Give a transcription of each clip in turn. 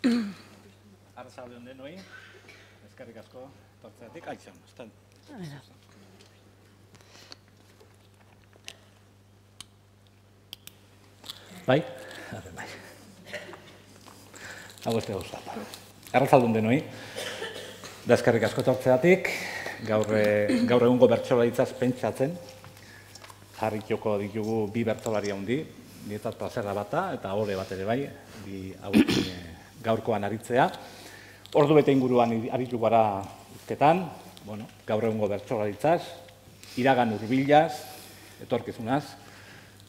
Arratsalde on denoi, eskerrik asko tortzeatik. Aizan, estan. Bai? Bai. Hau ez gauza. Arratsalde on denoi, da eskerrik asko tortzeatik. Gaur egungo bertsolaritzaz pentsatzen. Jarrituko ditugu bi bertsolari handi, nietzat plazerra bata eta ole bat ere bai, bi hauekin gaurkoan aritzea. Ordu bete inguruan aritu gara hizketan, gaur egungo bertsolaritzaz, iragan hurbilaz, etorkizunaz,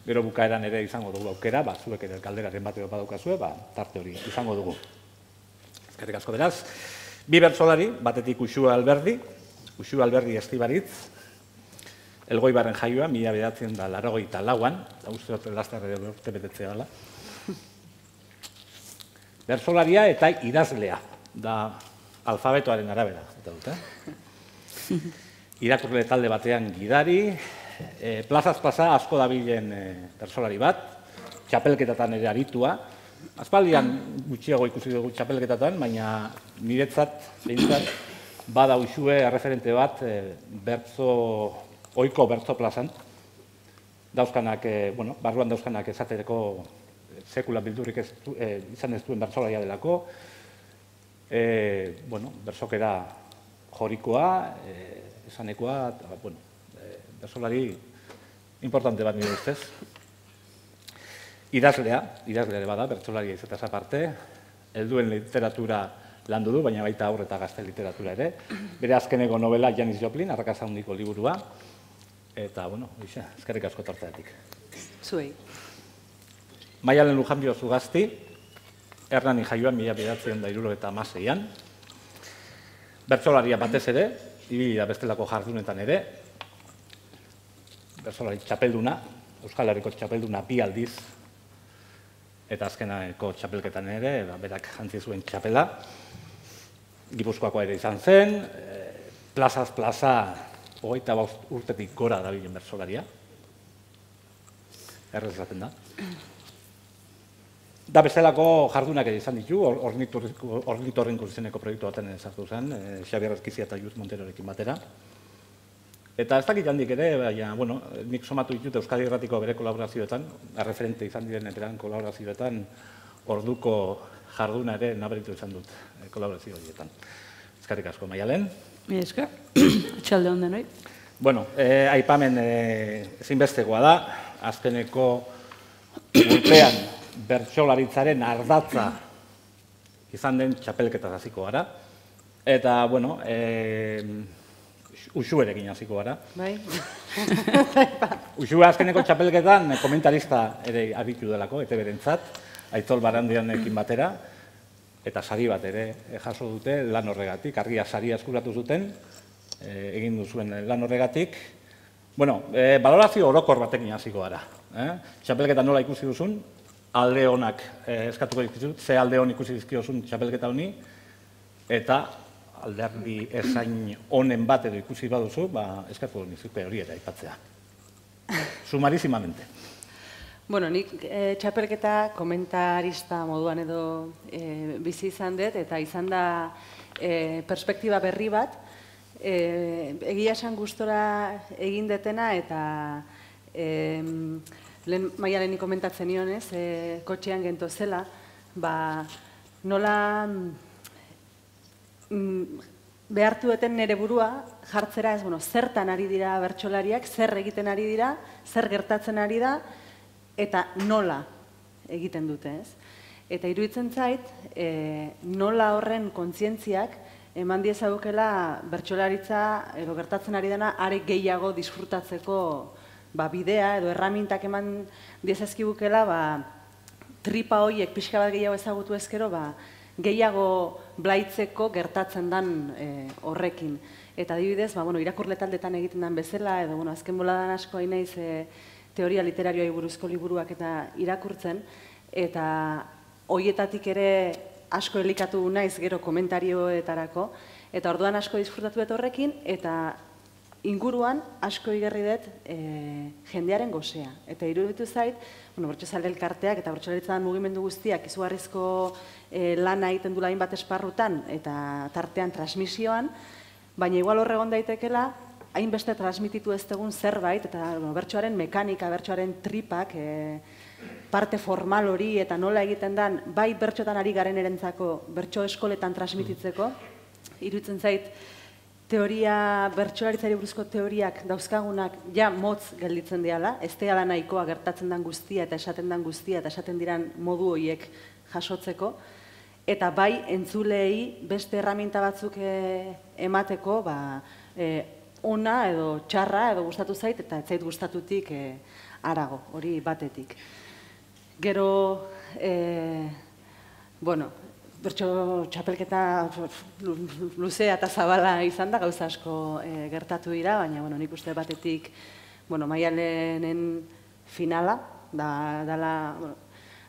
gero bukaeran ere izango dugu aukera, zuek ere galderaren bat edo badaukazue, tarte hori izango dugu. Eskerrik asko beraz. Bi bertsolari, batetik Uxue Alberdi Estibaritz, Elgoibarren jaioa, 1984an, uste dut lasterre urte betetzea dela. Bertsolaria eta idazlea, da alfabetoaren arabera. Irakurle talde batean gidari, plazaz plaza asko dabilen bertsolari bat, txapelketatan ere aritua. Aspaldian gutxiago ikusi dugu txapelketatan, baina niretzat, behintzat, bada Uxue erreferente bat ohiko bertso plazan. Dauzkanak, barruan dauzkanak esateko sekula bildurik izan ez duen bertsolaria delako. Bertsokera jorikoa, esanekoa, bertsolari importante bat nire ustez. Idazlea ere bada, bertsolaria izateaz aparte, helduen literatura landu du, baina baita haur eta gazte literatura ere. Bere azkeneko novela Janis Joplin, Arrakasta handiko liburua, eta, eskerrik asko tortzeatik. Zuei. Maialen Lujanbio Zugasti, Hernani jaioan 1976an. Bertsolaria batez ere, ibili da bestelako jardunetan ere. Bertsolari txapelduna, Euskal Herriko txapelduna 2 aldiz, eta azkeneko txapelketan ere, berak jantzi zuen txapela. Gipuzkoakoa ere izan zen, plazaz plaza, 25 urtetik gora dabilen bertsolaria. Errez esaten da. Da bestelako jardunak ere izan ditu, Ornitorrinko izeneko proiektu baten sartu zen, Xabier Ezkizia eta Juz Monterorekin batera. Eta ez dakit handik ere, baina, nik somatu ditut Euskadi Irratiko bere kolaborazioetan, erreferente izan diren eperan kolaborazioetan, orduko jarduna ere nabaritu izan dut kolaborazio horietan. Eskerrik asko, Maialen. Mi esker, atxalde onden hori. Aipamen ezinbestekoa da, azkeneko urtean bertsolaritzaren ardatza izan den txapelketa hasiko gara. Eta, Uxuerekin hasiko gara. Bai. Uxue azkeneko txapelketan komentarista ere aritu delako, ETB-rentzat, Aitzol Barandianekin batera, eta sari bat ere jaso dute lan horregatik, argia saria eskuratu zuten, egin duzuen lan horregatik. Balorazio orokor batekin hasiko gara. Txapelketa nola ikusi duzun, alde honak eskatuko dizkizut, ze alde hon ikusi dizkiozun txapelketa honi, eta alderdi esain honen bat edo ikusi baduzu, eskatuko dizuke hori ere aipatzea. Sumarizimamente. Nik txapelketa komentarista moduan edo bizi izan dut, eta izan da perspektiba berri bat, egia esan gustora egin detena, eta lehen Maialeni komentatzen nionez, kotxean gento zela, nola behartu duten nire burua jartzera, zertan ari dira bertsolariak, zer egiten ari dira, zer gertatzen ari da, eta nola egiten dute, ez? Eta iruditzen zait, nola horren kontzientziak eman diezagukela bertsolaritza edo gertatzen ari dena are gehiago disfrutatzeko bidea edo erramintak eman diezazkigukela tripa horiek pixka bat gehiago ezagutu ezkero gehiago blaitzeko gertatzen den horrekin. Eta adibidez, irakurle taldetan egiten den bezala, edo azken boladan asko hain naiz teoria literarioai buruzko liburuak eta irakurtzen, eta horietatik ere asko elikatu naiz gero komentarioetarako, eta orduan asko disfrutatu dut horrekin, eta inguruan asko igarri dut jendearen gozea. Eta iruditu zait, bertsozale elkarteak eta bertsolaritzan mugimendu guztiak izugarrizko lana egiten dula hainbat esparrutan eta tartean transmisioan, baina igual hor egon daitekela, hainbeste transmititu ez dugun zerbait, eta bertsoaren mekanika, bertsoaren tripak, parte formal hori eta nola egiten den, bai bertxotan ari garen erentzako, bertso eskoletan transmititzeko, iruditzen zait, teoria, bertsolaritzari buruzko teoriak dauzkagunak ja motz gelditzen diala, ez dela nahikoa gertatzen den guztia eta esaten den guztia eta esaten diran modu horiek jasotzeko, eta bai entzulei beste erraminta batzuk emateko, ona edo txarra edo gustatu zait eta ez zait gustatutik harago, hori batetik. Gero, bertso txapelketa luzea eta zabala izan da, gauza asko gertatu dira, baina nik uste batetik Maialenen finala,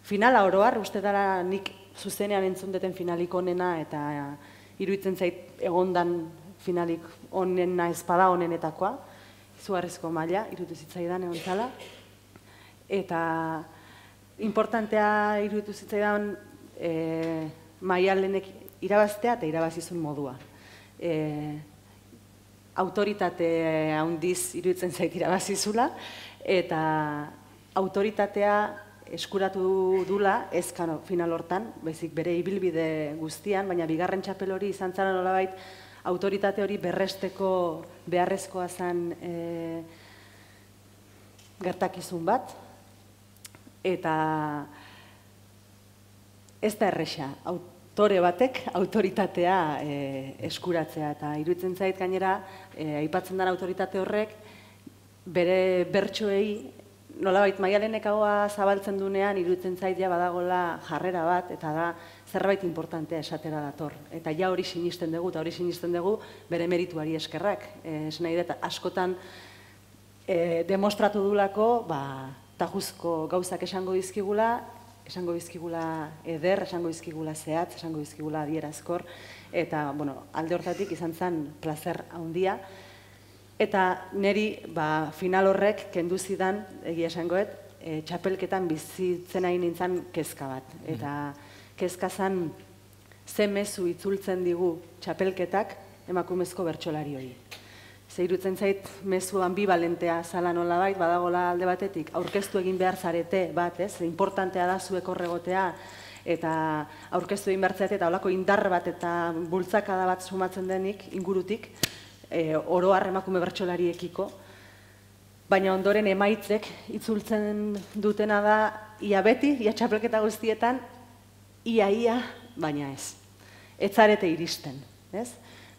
finala oroar, uste dara nik zuzenean entzun deten finalik onena eta iruditzen zait egondan finalik onena espada onenetakoa, izugarrizko maila, iruditu zitzaidan egon zala, eta importantea iruditu zitzaidan Maialenek irabaztea eta irabazizun modua. Autoritate handiz iruditzen zait irabazizula, eta autoritatea eskuratu dula, ez final hortan, baizik bere ibilbide guztian, baina bigarren txapel hori izan zara nolabait, autoritate hori berresteko beharrezkoa zen gertakizun bat, eta ez da erresa, autore batek autoritatea eskuratzea, eta iruditzen zait gainera, aipatzen den autoritate horrek, bere bertsoei, nolabait Maialenek ahoa zabaltzen dunean, iruditzen zait ja badagola jarrera bat, eta da zerbait importantea esatera dator. Eta ja hori sinisten dugu, eta hori sinisten dugu bere merituari eskerrak. Ez nahi dut, askotan demostratu dulako, tajuzko gauzak esango dizkigula eder, esango dizkigula zehatz, esango dizkigula adierazkor, eta alde hortatik izan zen plazer handia. Eta niri final horrek kendu zidan, egia esangoet, txapelketan bizitzen ari nintzen kezka bat. Eta kezka zen ze mezu itzultzen digu txapelketak emakumezko bertsolari hori. Ze iruditzen zait mezu ambivalentea zala nolabait, badagola alde batetik, aurkeztu egin behar zarete bat, ez? Importantea da zuek horregotea, eta aurkeztu egin behar zarete, eta holako indar bat eta bultzakada bat sumatzen denik, ingurutik, oro har emakume bertsolariekiko, baina ondoren emaitzek itzultzen dutena da, ia beti, ia txapelketa guztietan, ia, baina ez. Ez zarete iristen, ez?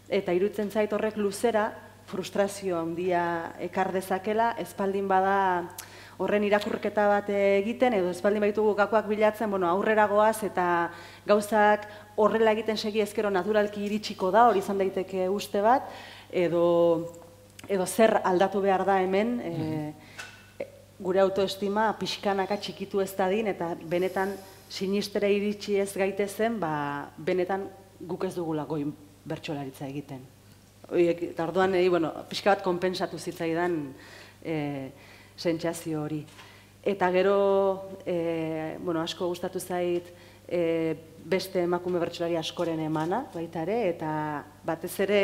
Eta iruditzen zait horrek luzera, frustrazio handia ekar dezakela, espaldin bada horren irakurketa bat egiten, edo espaldin baitugu gakoak bilatzen, aurrera goaz eta gauzak horrela egiten segi ezkero naturalki iritsiko da, hori izan daiteke uste bat, edo zer aldatu behar da hemen, gure autoestima pixkanaka txikitu ez dadin, eta benetan sinistera iritsi ez gaitezen, benetan guk ez dugula goi bertsolaritza egiten. Eta orduan, pixka bat konpentsatu zitzaidan sentsazio hori. Eta gero, asko gustatu zait beste emakume bertsolari askoren emana, baita ere, eta batez ere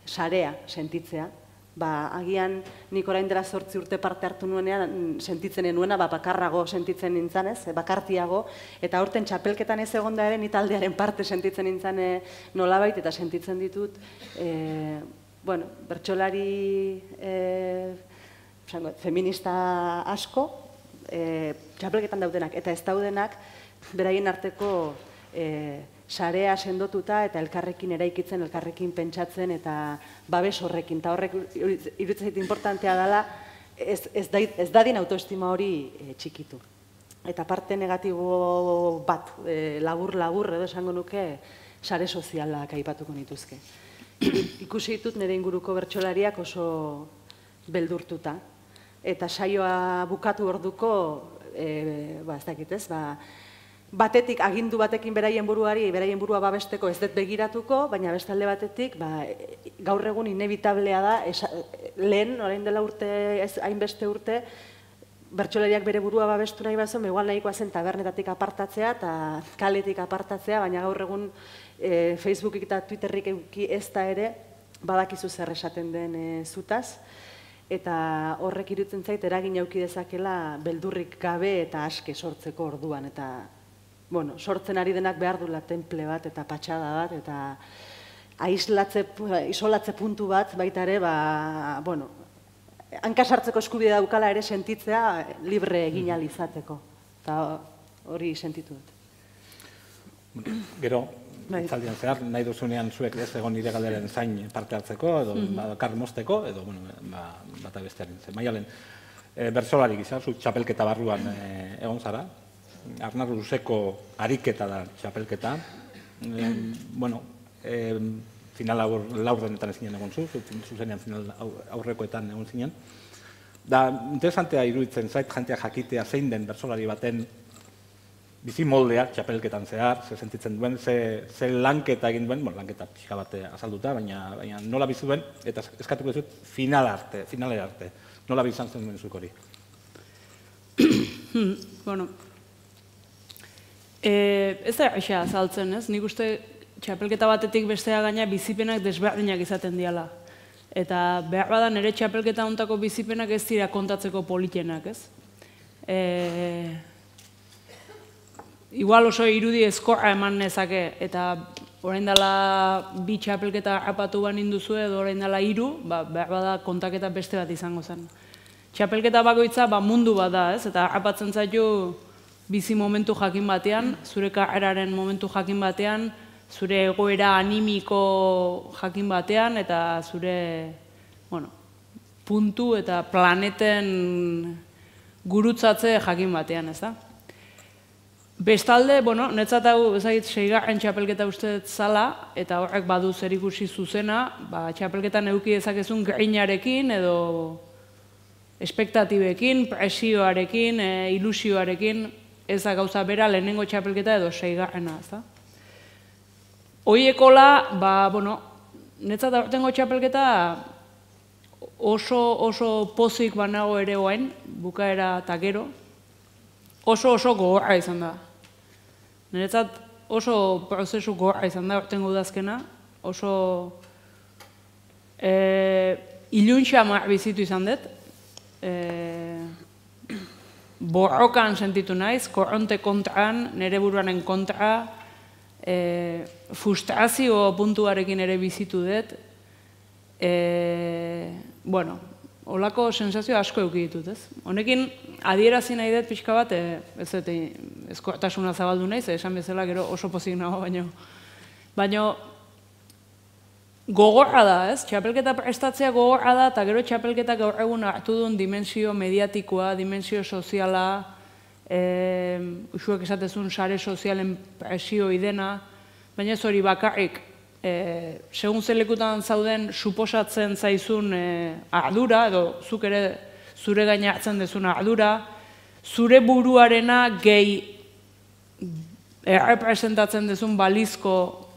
sarea sentitzea. Agian nik orain dela 8 urte parte hartu nuenean sentitzen nuena, bakarrago sentitzen nintzen ez, bakartiago, eta aurten txapelketan ez egonda ere ni taldearen parte sentitzen nintzen nolabait, eta sentitzen ditut, bertsolari feminista asko, txapelketan daudenak, eta ez daudenak, beraien arteko sarea sendotuta eta elkarrekin eraikitzen, elkarrekin pentsatzen eta babes horrekin. Eta horrek iruditzen zait importantea dela ez dadin autoestima hori txikitu. Eta parte negatibo bat, labur edo esango nuke, sare sozialak aipatuko nituzke. Ikusi ditut nire inguruko bertsolariak oso beldurtuta. Eta saioa bukatu orduko, ez dakit ez, batetik agindu batekin beraien burua babesteko ez dut begiratuko, baina beste alde batetik gaur egun inevitablea da, lehen, orain dela urte, ez hainbeste urte, bertsolariak bere burua babestu nahi bazuen, igual nahikoa zen tabernetatik apartatzea eta kaletik apartatzea, baina gaur egun Facebookik eta Twitterrik eduki ez da ere, badakizu zer esaten den zutaz, eta horrek iruditzen zait eragin eduki dezakela beldurrik gabe eta aske sortzeko orduan, eta sortzen ari denak behar duela temple bat eta patxada bat, eta isolatze puntu bat baita ere, hankasartzeko eskubide daukala ere sentitzea libre egin ahal izateko. Eta hori sentitu dut. Gero, itzaldian zehar, nahi duzunean zuek ez egon nire galderen zain parte hartzeko, edo bakar mozteko, edo bata bestearen zen. Maialen, bertsolari gisa, zu txapelketa barruan egon zara, Arnar luzeko ariketa da txapelketa. Final laurdenetan ezinen egon zu, zuzenean final aurrekoetan egon zinen. Da, interesantea iruditzen zait, jantea jakitea zein den bertsolari baten bizi moldea txapelketan zehar, ze sentitzen duen, ze lanketa egin duen, lanketa pixka bat azalduta, baina nola bizi duen, eta eskatuko dut finalera arte. Nola bizan zen duen zuek hori? Ez da aixa azaltzen, ez? Nik uste txapelketa batetik bestea gaina bizipenak desberdinak izaten diala. Eta behar bada nire txapelketa hontako bizipenak ez dira kontatzeko politenak, ez? Igual oso irudi ezkorra eman nezake, eta orain dela bi txapelketa apatu banin duzu edo orain dela 3, behar bada kontaketa beste bat izango zen. Txapelketa bakoitza mundu bat da, ez? Eta apatzen zaitu bizi momentu jakin batean, zure karreraren momentu jakin batean, zure egoera animiko jakin batean, eta zure puntu eta planeten gurutzatze jakin batean, ez da? Bestalde, netzat hau, ezagit, 6. txapelketa uste zala, eta horrek badu zerikusi zuzena, txapelketan eduki dezakezun grinarekin, edo espektatibekin, presioarekin, ilusioarekin, ez da gauza bera lehenengo txapelketa edo 6. ez da? Hoiekola, netzat aurtengo txapelketa oso pozik banago ere oain, bukaera eta gero, oso gogorra izan da. Niretzat oso prozesu gogorra izan da aurtengo udazkena, oso iluntxamar bizitu izan dut, borrokan sentitu naiz, korronte kontran, nire buruaren kontra, frustrazio puntuarekin ere bizitu dut. Holako sensazio asko eduki ditut, ez? Honekin adierazi nahi dut pixka bat, ezkortasuna zabaldu naiz, esan bezala gero oso pozik nago, baina gogorra da, ez? Txapelketa prestatzea gogorra da, eta gero txapelketa gaur egun hartu duen dimensio mediatikoa, dimensio soziala, usuek esatezun sare sozialen presio idena, baina ez hori bakarrik, segun zelekutan zauden suposatzen zaizun ardura, edo zuk ere zure gaina hartzen dezun ardura, zure buruarena gehi errepresentatzen dezun balizko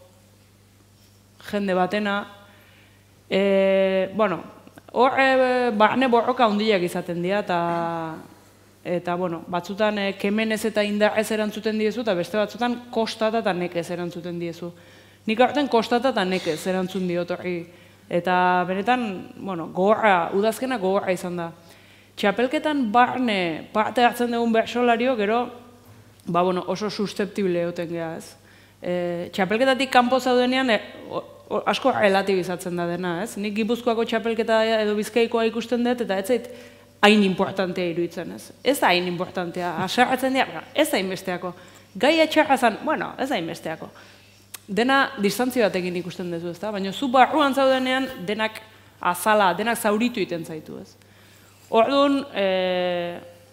jende batena, barne borroka handiak izaten dira, eta batzutan kemenez eta indarrez erantzuten diezu, eta beste batzutan kostata eta nekez erantzuten diezu. Nik aurten kostata eta nekez erantzun diot horri. Eta benetan, gogorra, udazkena gogorra izan da. Txapelketan barne parte hartzen dugun bertsolario, gero, oso susceptible egoten geha, ez? Txapelketatik kanpo zaudenean, asko relatibizatzen da dena, ez? Nik Gipuzkoako txapelketa edo Bizkaikoa ikusten dut, eta ez zait hain importantea iruditzen, ez? Ez da hain importantea, asarratzen dira, ez da hainbesteako. Gai etxarra zan, ez da hainbesteako. Dena distantzio batekin ikusten duzu, ez da? Baina zu barruan zaudenean denak azala, denak zauritu iten zaitu, ez? Orduan,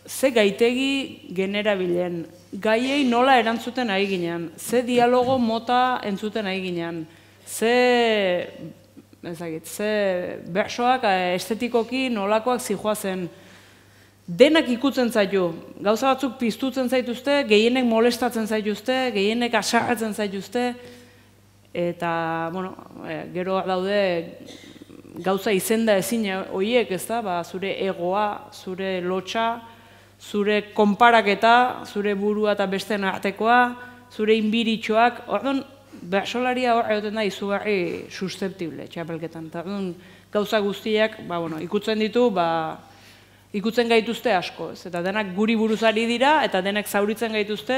ze gaitegi generabilen, gaiei nola erantzuten ari ginean, ze dialogo mota entzuten ari ginean, ze bersoak estetikoki nolakoak zijoazen, denak ikutzen zaitu, gauza batzuk piztutzen zaituzte, gehienek molestatzen zaituzte, gehienek asarratzen zaituzte, eta, bueno, gero daude gauza izenda ezin horiek, ez da, zure egoa, zure lotxa, zure konparaketa, zure burua eta besteen artekoa, zure inbiritxoak, orduan, bersolaria hor egoten da izugarri susceptible, txapelketan. Orduan, gauza guztiak, ikutzen ditu, ikutzen gaituzte asko, ez? Eta denak guri buruzari dira, eta denak zauritzen gaituzte,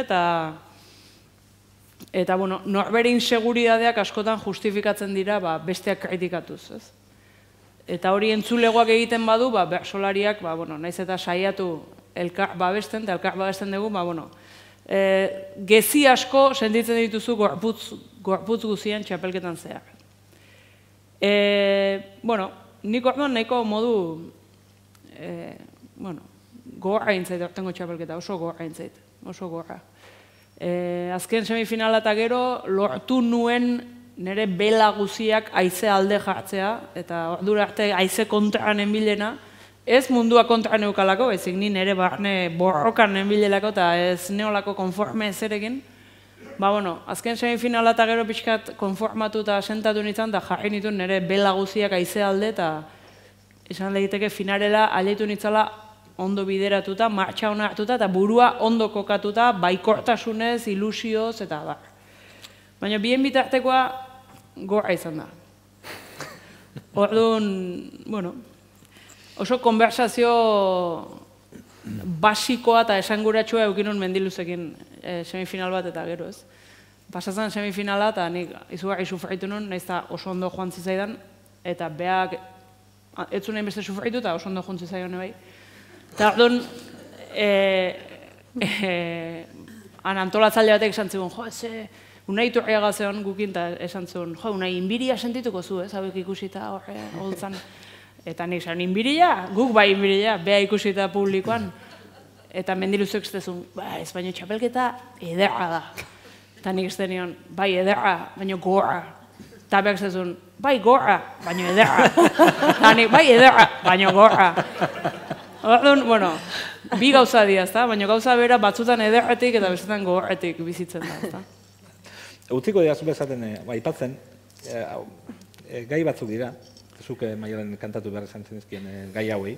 eta norbere inseguridadeak askotan justifikatzen dira besteak kritikatuz, ez? Eta hori entzulegoak egiten badu, bersolariak, naiz eta saiatu elkar babesten, eta elkar babesten dugu, gezi asko sentitzen dituzu gorputz guzien txapelketan zehar. Nik orduan nahiko modu gogorra intzait ortengo txapelketa, oso gogorra intzait, oso gogorra. Azken semifinala eta gero lortu nuen nire bela guziak haize alde jartzea, eta ordura arte haize kontraan enbilena, ez mundua kontraan eukalako, ezik ni nire barne borrokan enbilelako eta ez neolako konforme ezerekin. Azken semifinala eta gero pixkat konformatu eta sentatu nintzen, eta jarri nituen nire bela guziak haize alde, eta esan lehiteke finarela aleitu nintzala ondo bideratuta, martxa hona hartuta, eta burua ondo kokatuta, baikortasunez, ilusioz, eta bar. Baina bien bitartekoa gorra izan da. Orduan, oso konversazio basikoa eta esanguratsua eukinun mendiluzekin semifinal bat eta gero, ez? Pasazan semifinala eta nik izugarri sufritu nun, nahiz eta oso ondo joan zizaidan, eta beak ez zuen beste sufritu eta oso ondo joan zizaidan bai. Eta orduan, antolatzaile batek esan zigun, unai turriaga zeon gukin, eta esan zigun, unai inbiria sentituko zu, ez, hauek ikusita horre holtzan. Eta nik zan, inbiria? Guk bai inbiria, beha ikusita publikoan. Eta mendiluzek zezun, ez baino txapelketa ederra da. Eta nik ez denion, bai ederra, baino gorra. Eta behak zezun, bai gorra, baino ederra. Eta nik, bai ederra, baino gorra. Orduan, bi gauza dira, baina gauza bera batzutan ederretik eta bestetan gorretik bizitzen da. Utziko dira zubezaten aipatzen, gai batzuk dira, zuke Maialen kantatu behar esan zenezkien gai hauei,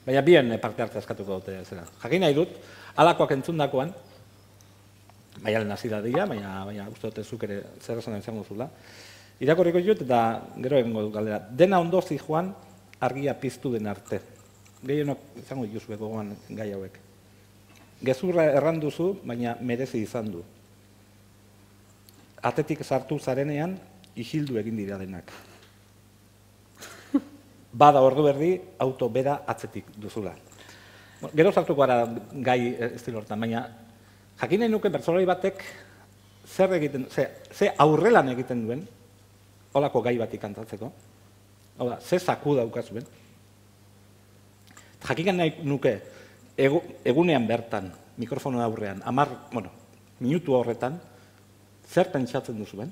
baina bien parte hartza eskatuko dute zera. Jakin nahi dut, alakoak entzundakoan, Maialen hasi da dira, baina uste dute zuk ere zer esan izango zula. Irakorriko jut eta gero egingo du galdera. Dena ondo zijoan argia piztu den arte. Gehienok izango dituzue gogoan gai hauek. Gezurra erranduzu, baina merezi izan du. Atetik sartu zarenean, isildu egin dira denak. Bada ordu berdi, auto bera atzetik duzula. Gero sartuko gara gai estilo hortan, baina jakin nahi nuke bertsolari batek ze aurrelan egiten duen, holako gai batik kantatzeko, ze zaku daukazuen. Jakin nahi nuke egunean bertan, mikrofono aurrean, minutu horretan, zer pentsatzen duzuen,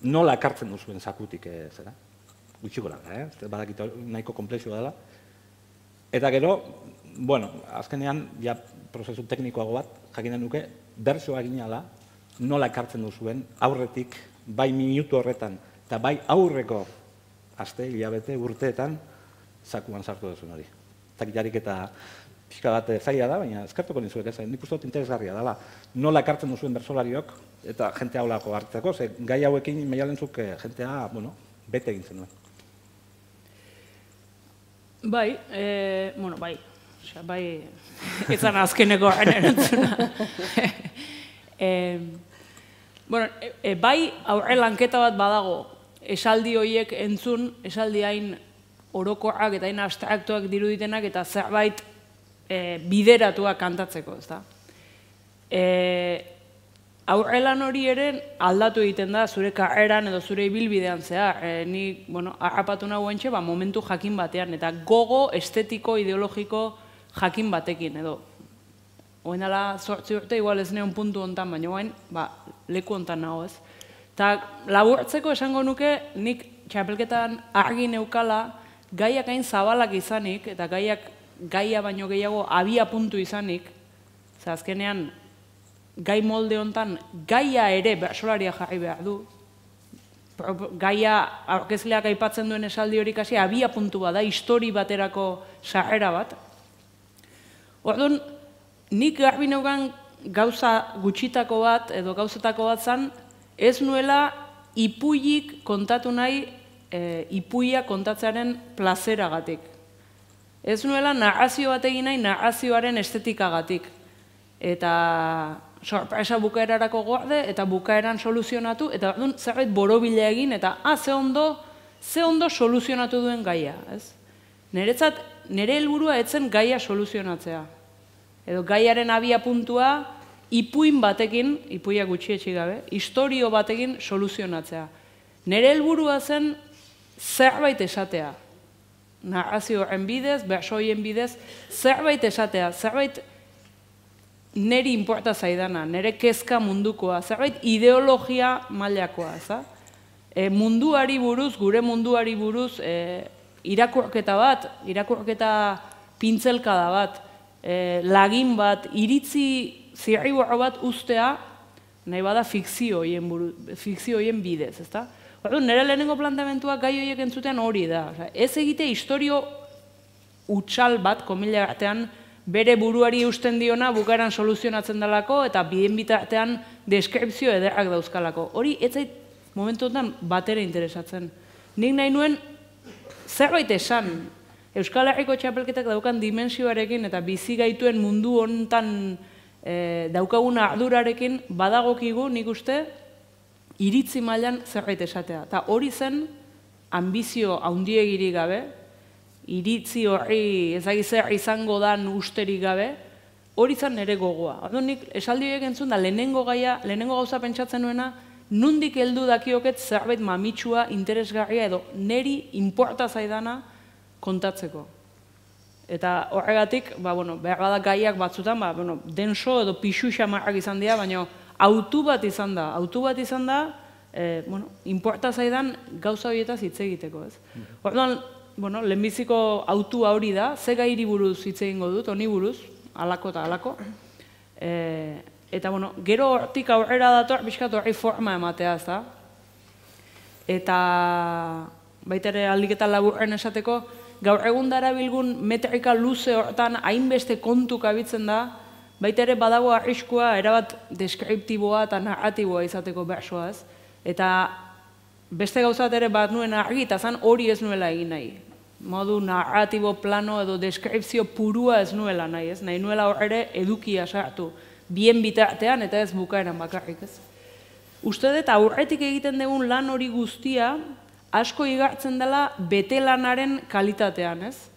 nola ekartzen duzuen zakutik zera. Gutxiko da, badakit nahiko komplexua dela. Eta gero, azkenean, ja prozesu teknikoago bat, jakin nahi nuke, bertsoa ginala, nola ekartzen duzuen, aurretik, bai minutu horretan, eta bai aurreko aste, hilabete, urteetan, zakuan sartu duzuen hori. Takitarik eta pixka bat zaila da, baina eskertuko nizuek ez, nik uste dut interesgarria dela. Nola ekartzen duzuen bertsolariok eta jentea holako hartzeko, ze gai hauekin Maialentzuk jentea, bete egin zenuen. Bai, bai, izan azkeneko horren erantzuna. Bai, aurre lanketa bat badago, esaldi horiek entzun, esaldi hain orokorrak eta hain abstraktuak diruditenak eta zerbait bideratuak kantatzeko, ez da. Aurrelan hori ere aldatu egiten da zure karreran edo zure ibilbidean zehar. Ni, harrapatu nago entxe, momentu jakin batean, eta gogo estetiko, ideologiko jakin batekin, edo. Oen dela 8 urte, igual ez neon puntu hontan, baina oen, leku hontan nago ez. Eta laburtzeko esango nuke, nik txapelketan argi neukala, gaiak hain zabalak izanik, eta gaiak gaia baino gehiago abia puntu izanik, ze azkenean gai molde hontan gaia ere bertsolaria jarri behar du. Gaia aurkezleak aipatzen duen esaldi hori kasi abia puntu bat da, histori baterako sarrera bat. Orduan, nik garbi neukan gauza gutxitako bat edo gauzetako bat zan, ez nuela ipuiik kontatu nahi ipuia kontatzearen plazeragatik. Ez nuela narrazio bat egin nahi narrazioaren estetikagatik. Eta sorpresa bukaerarako gorde eta bukaeran soluzionatu, eta orduan zerbait borobila egin, eta ze ondo soluzionatu duen gaia. Niretzat, nire helburua etzen gaia soluzionatzea. Edo gaiaren abia puntua ipuin batekin, ipuia gutxietxi gabe, historio batekin soluzionatzea. Nire helburua zen zerbait esatea. Narrazio horren bidez, bersoien bidez, zerbait esatea, zerbait neri inporta zaidana, nire kezka mundukoa, zerbait ideologia mailakoa, munduari buruz, gure munduari buruz, irakurketa bat, irakurketa pintzelkada bat, lagin bat, iritzi zirriborro bat ustea, nahi bada fikzio horien bidez, ezta? Nire lehenengo planteamentua gai horiek entzuten hori da. Ez egite historio utxal bat, komila artean, bere buruari usten diona bukaeran soluzionatzen dalako eta biden bitartean deskripzio ederrak dauzkalako. Hori ez zait momentu honetan batera interesatzen. Nik nahi nuen zerbait esan. Euskal Herriko txapelketak daukan dimensioarekin eta bizi gaituen mundu honetan daukagun ardurarekin badagokigu nik uste iritzi mailan zerbait esatea. Eta hori zen ambizio handiegirik gabe, iritzi horri ezagizer izango dan usterik gabe, hori zen nire gogoa. Orduan nik esaldi horiek entzun da lehenengo gauza pentsatzen nuena, nundik heldu dakioket zerbait mamitsua, interesgarria edo neri inporta zaidana kontatzeko. Eta horregatik, behar bada gaiak batzutan, denso edo pixu xamarrak izan dira, baina autu bat izan da, inporta zaidan gauza horietaz hitz egiteko, ez? Orduan, lehenbiziko autua hori da, ze gairi buruz hitz egingo dut, honi buruz, halako eta halako. Eta, gero hortik aurrera dator, bizkat horri forma ematea, ez da? Eta, baita ere aldiketa laburren esateko, gaur egun darabilgun metrika luze hortan hainbeste kontuk abitzen da, baita ere badago arriskua erabat deskriptiboa eta narratiboa izateko bersoa, ez? Eta beste gauzat ere bat nuen argi eta zan hori ez nuela egin nahi. Modu narratibo plano edo deskripzio purua ez nuela nahi, ez? Nahi nuela hor ere edukia sartu, bien bitartean eta ez bukaeran bakarrik, ez? Uste dut aurretik egiten dugun lan hori guztia asko igartzen dela bete lanaren kalitatean, ez?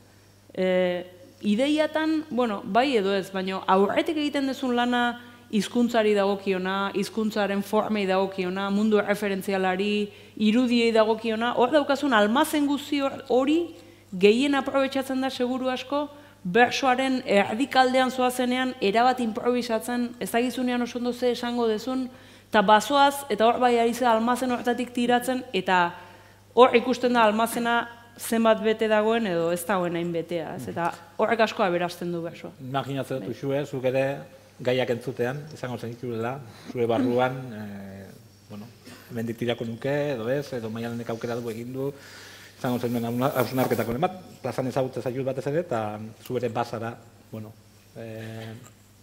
Ideiatan, bai edo ez, baina aurretik egiten duzun lana hizkuntzari dagokiona, hizkuntzaren formei dagokiona, mundu referentzialari, irudiei dagokiona, hor daukazun almazen guzti hori gehien aprobetxatzen da seguru asko, bersoaren erdikaldean zoazenean, erabat improvisatzen, ezagizunean oso ondo ze esango dezun, eta bazoaz, eta hor bai ari ze almazen horretatik tiratzen, eta hor ikusten da almazena zenbat bete dagoen edo ez dagoen hain betea, eta horrek asko aberasten du bersoa. Imaginatzen dut, Uxue, zuk ere gaiak entzutean, izango zen dituela, zure barruan, hemendik tirako nuke, edo ez, edo Maialenek aukera du egin du, izango zen duen hausnarketako bat, plazan ezagutze zaitut batez ere, eta zu ere bazara,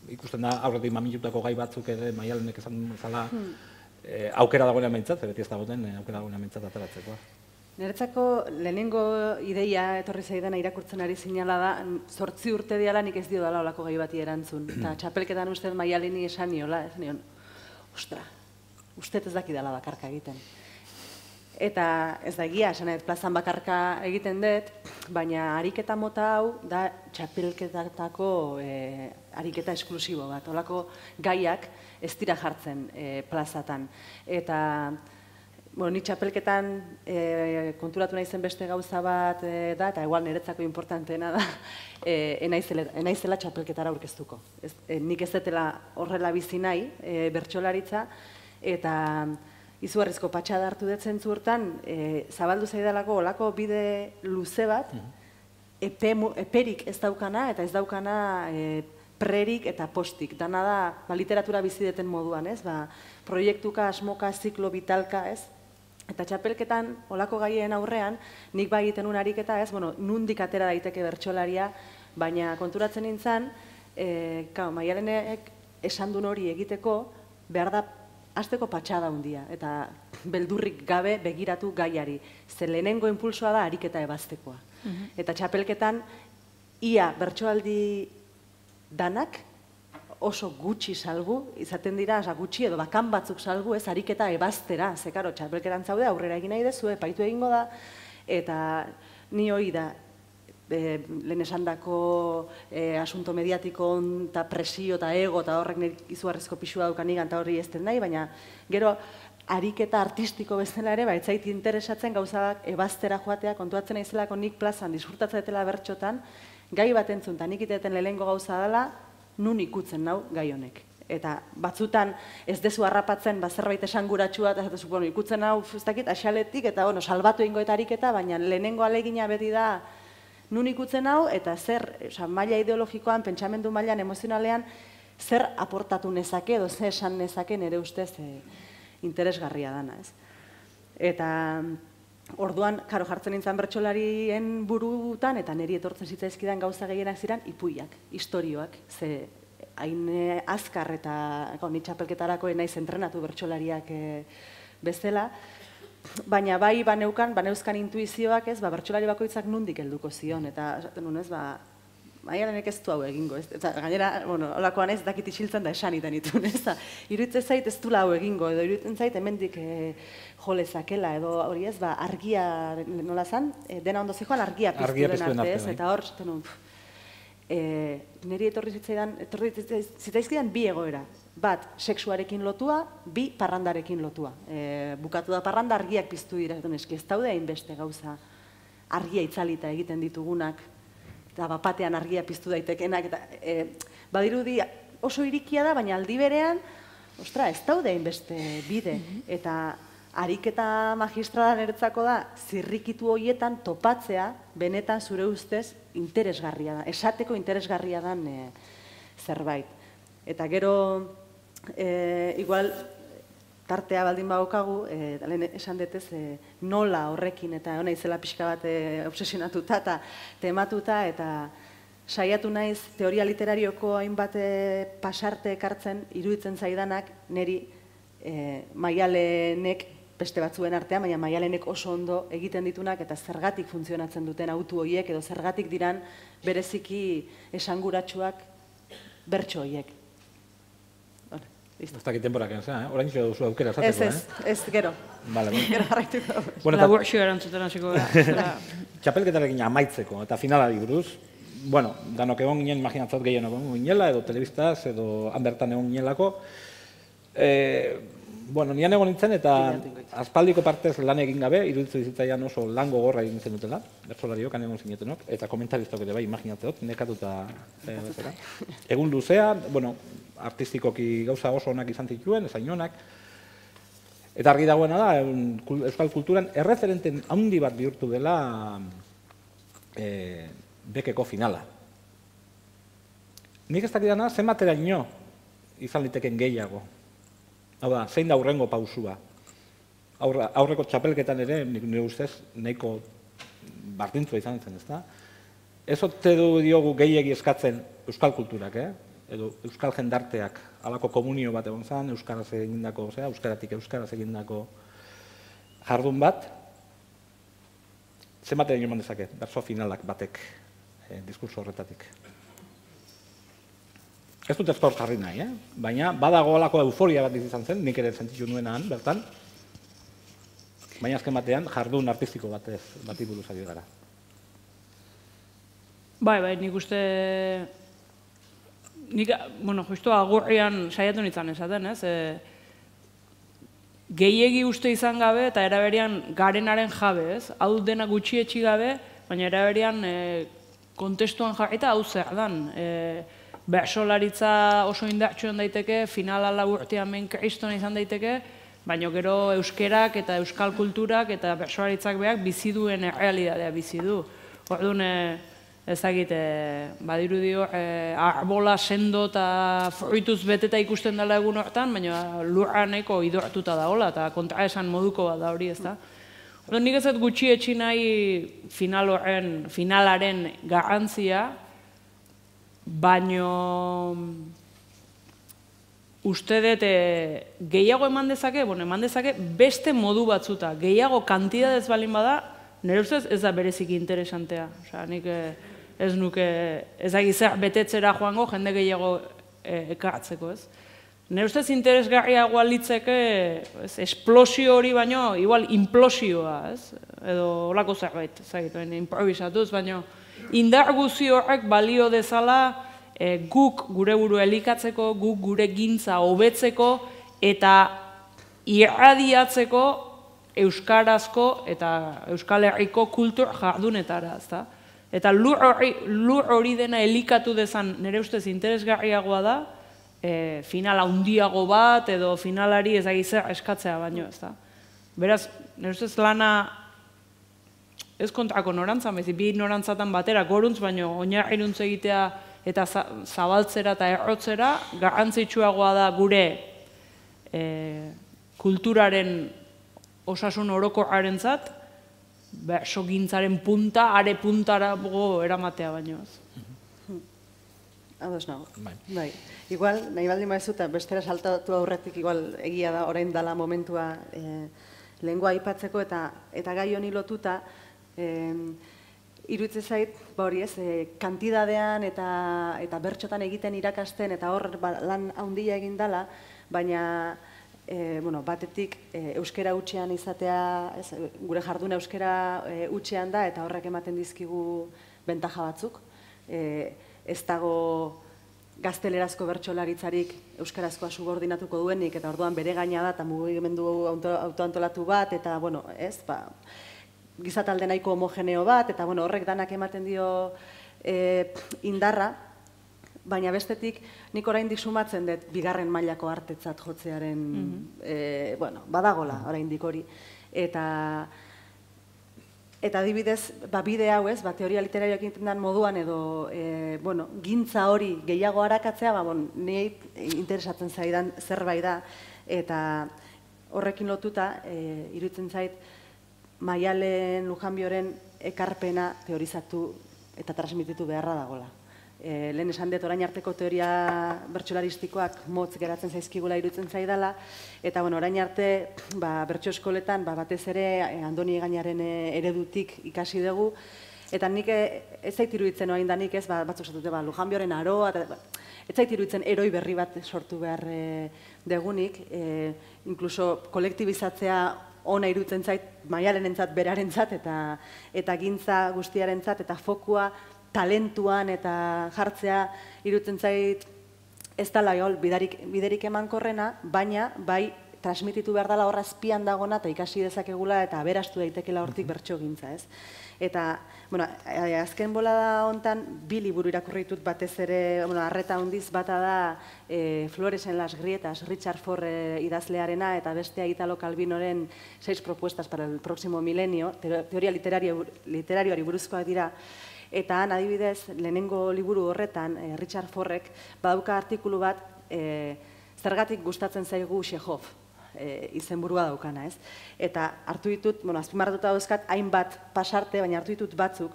ikusten da aurretik mamilutako gai batzuk ere Maialenek esan zala aukera dagoen mentzat, beti ez dagoen aukera dagoen mentzat ateratzeko. Niretzako lehenengo ideia etorri zaidana irakurtzen ari zinala da, 8 urte diala nik ez dio dala olako gai bati erantzun. Eta txapelketan uste Maialeni esan niola, ez nion, ostra, uste ez daki dala bakarka egiten. Eta ez da egia, esan plazan bakarka egiten dut, baina ariketa mota hau da txapelketatako ariketa esklusibo bat. Olako gaiak ez dira jartzen plazatan. Eta ni txapelketan konturatu nahi zen beste gauza bat da, eta igual niretzako importanteena da, enaizela txapelketara aurkeztuko. Nik ez detela horrela bizi nahi, bertsolaritza, eta izugarrizko patxada hartu dut zentzu hortan, zabaldu zaidalako olako bide luze bat, eperik ez daukana eta ez daukana prerik eta postik. Dana da, literatura bizideten moduan, ez? Proiektuka, asmoka, ziklo, vitalka, ez? Eta txapelketan, olako gaien aurrean, nik bai egiten un ariketa, ez? Nundik atera daiteke bertsolaria, baina konturatzen nintzen, Maialenek esan duen hori egiteko, behar da hasteko patxada handia, eta beldurrik gabe begiratu gaiari. Ze lehenengo impulsoa da ariketa ebaztekoa. Eta txapelketan, ia bertsoaldi danak oso gutxi salgu, izaten dira, gutxi edo bakan batzuk salgu, ez ariketa ebaztera. Ze, karo, txapelketan zaude, aurrera egin nahi dezu, epaitu egingo da, eta ni hori da, lehen esandako asunto mediatiko eta presio eta ego eta horrek nire izugarrizko pixua daukan igan eta horri ez den nahi, baina gero ariketa artistiko bezala ere, ez zait interesatzen gauzak ebaztera joatea, kontuatzen naizelako nik plazan disfrutatzen dela bertxotan, gai bat entzun, eta nik iteten lehenengo gauza dela, nun ikutzen nau gai honek. Eta batzutan ez dezu harrapatzen zerbait esanguratsua, eta ikutzen hau, ez dakit, axaletik, eta salbatu egingo eta ariketa, baina lehenengo alegina beti da, nun ikutzen hau, eta zer, maila ideologikoan, pentsamendu mailan, emozionalean, zer aportatu nezake, edo zer esan nezake nire ustez interesgarria dana, ez. Eta orduan, karo, jartzen nintzen bertsolarien burutan, eta niri etortzen zitzaizkidan gauza gehienak ziren, ipuiak, istorioak, ze hain azkar eta ni txapelketarako naiz entrenatu bertsolariak bezala, baina bai baneuzkan intuizioak, ez, bertsolari bakoitzak nundik helduko zion, eta esaten nuen, ez, Maialenek ez du hau egingo, ez, eta gainera, holakoan ez, dakit isiltzen da esan iten itun, ez, iruditzen zait ez du hau egingo, edo iruditzen zait hemendik jo lezakela, edo hori ez, argia, nola zan, dena ondo zijoan argia piztuen arte, ez, eta hor, zaten nun, niri etorri zitzaizkidan bi egoera. Bat, sexuarekin lotua, bi, parrandarekin lotua. Bukatu da parranda, argiak piztu dira, eski ez daude hainbeste gauza argia itzalita egiten ditugunak, eta bapatean argia piztu daitekenak, eta badirudi oso irikia da, baina aldi berean, ostra, ez daude hainbeste bide, eta ariketa magistrala niretzako da, zirrikitu horietan topatzea, benetan zure ustez, interesgarria da, esateko interesgarria dan zerbait. Eta gero, igual, tartea baldin badokagu, lehen esan detez, nola horrekin, eta hona izela pixka bat obsesionatuta eta tematuta, eta saiatu naiz teoria literarioko hainbat pasarte ekartzen, iruditzen zaidanak, niri Maialenek beste batzuen artean, baina Maialenek oso ondo egiten ditunak eta zergatik funtzionatzen duten autu horiek edo zergatik diran bereziki esanguratsuak bertso horiek. Ez dakit temporak egin, orain txo duzu aukera esateko, Ez, gero. Gero jarraituko. Laburxio erantzuten hasiko gara. Txapelketarekin amaitzeko eta finalari buruz, danok egon ginen, imaginatzat gehien egon ginela, edo telebistaz, edo han bertan egon ginelako. Nian egon nintzen eta aspaldiko partez lan egin gabe, iruditzen dizitzaian oso lan gogorra egin zen dutela, bertsolariok, han egon zinetenok, eta komentaristok ere bai, imaginatzot, nekatuta bezala. Egun luzea, artistikoki gauza oso onak izan zituen, ezain onak, eta argi dagoena da, euskal kulturan erreferenten handi bat bihurtu dela bekeko finala. Nik ez dakidana, zenbateraino izan liteken gehiago. Hau da, zein da hurrengo pausua. Aurreko txapelketan ere, nire ustez, nahiko bardintzua izan zen, ezta? Ez ote du diogu gehiegi eskatzen euskal kulturak, edo euskal jendarteak, halako komunio bat egon zen, euskaraz egindako, euskaratik euskaraz egindako jardun bat, zenbateraino eman dezake, berso finalak batek diskurso horretatik. Ez dut ezkor jarri nahi, baina badago halako euforia bat izan zen, nik ere sentitu nuenan, bertan, baina azken batean jardun artistiko bati buruz ari gara. Bai, nik uste... Nik, justu agurrian saiatu nintzen esaten, ez? Gehiegi uste izan gabe eta eraberian garenaren jabe, ez? Hau dena gutxietxi gabe, baina eraberian kontestuan jarri eta hau zer dan. Bertsolaritza oso indartsuan daiteke, finala laburtean men kristona izan daiteke, baina gero euskerak eta euskal kulturak eta bertsolaritzak behar bizi duen errealitatea bizi du. Orduan, ezagit, badirudio, arbola sendo eta fruituz beteta ikusten dela egun hortan, baina lurra nahiko idortuta dagoela, eta kontraesan moduko bat da hori, ez da. Nik ez dut gutxi etxi nahi finalaren garrantzia, baino uste dut gehiago eman dezake beste modu batzuta, gehiago kantidadez balin bada, nire ustez ez da berezik interesantea. Osea, nik ez nuke ezagizer betetzera joango jende gehiago ekartzeko, ez? Nire ustez interesgarriagoa litzeke esplosio hori baino, igual implosioa, ez? Edo holako zerbait, ezagit, improvisatuz, baino indar guzi horrek balio dezala guk gure burua elikatzeko, guk gure gintza hobetzeko eta irradiatzeko euskarazko eta Euskal Herriko kultur jardunetara, ezta? Eta lur hori dena elikatu dezan nire ustez interesgarriagoa da, finala handiago bat edo finalari ezagizer eskatzea baino, ezta? Beraz, nire ustez lana ez kontrako norantzan, bi norantzatan batera goruntz, baino oinarriruntz egitea eta zabaltzera eta errotzera, garrantzitsuagoa da gure kulturaren osasun orokorrarentzat, bersogintzaren punta, are puntara eramatea baino ez. Ados nago. Bai. Igual, nahi baldin maizu eta bestera saltatu aurretik igual egia da orain dala momentua lengua aipatzeko eta gai honi lotuta iruditzen zait, hori ez, kantidadean eta bertxotan egiten irakasten eta hor lan handia egin dala, baina batetik euskera hutsean izatea, gure jarduna euskera hutsean da eta horrek ematen dizkigu bentaja batzuk. Ez dago gaztelerazko bertsolaritzarik euskarazkoa subordinatuko duenik eta orduan bere gaina da eta mugimendu autoantolatu bat eta, gizatalde nahiko homogeneo bat eta horrek danak ematen dio indarra, baina bestetik nik oraindik sumatzen dut bigarren mailako artetzat jotzearen, badagola oraindik hori. Eta adibidez, bide hau ez, teoria literarioak egiten den moduan edo gintza hori gehiago arakatzea, nire interesatzen zaidan zerbait da eta horrekin lotuta iruditzen zait Maialen Lujanbioren ekarpena teorizatu eta transmititu beharra dagola. Lehen esan dut orain arteko teoria bertsolaristikoak motz geratzen zaizkigula iruditzen zaidala, eta orain arte bertso eskoletan batez ere Andoni Egañaren eredutik ikasi dugu, eta nik ez zait iruditzen orain danik ez, batzuk zatute Lujanbioren aroa, ez zait iruditzen eroi berri bat sortu behar degunik, inkluso kolektibizatzea ona iruditzen zait Maialenentzat berarentzat eta gintza guztiarentzat eta fokua talentuan eta jartzea iruditzen zait ez dela biderik emankorrena, baina bai transmititu behar dela horra azpian dagona eta ikasi dezakegula eta aberastu daitekela hortik bertso gintza, ez? Eta, azken bolada hontan, 2 liburu irakurri ditut batez ere, arreta handiz bata da Flores en las grietas, Richard Forr idazlearena, eta bestea Italo Calvinoren 6 propuestas para el próximo milenio, teoria literarioari buruzkoak dira, eta han adibidez, lehenengo liburu horretan, Richard Forrek, badauka artikulu bat, zergatik gustatzen zaigu Chekhov, izenburua daukana, ez? Eta hartu ditut, azpimarratuta dauzkat, hainbat pasarte, baina hartu ditut batzuk,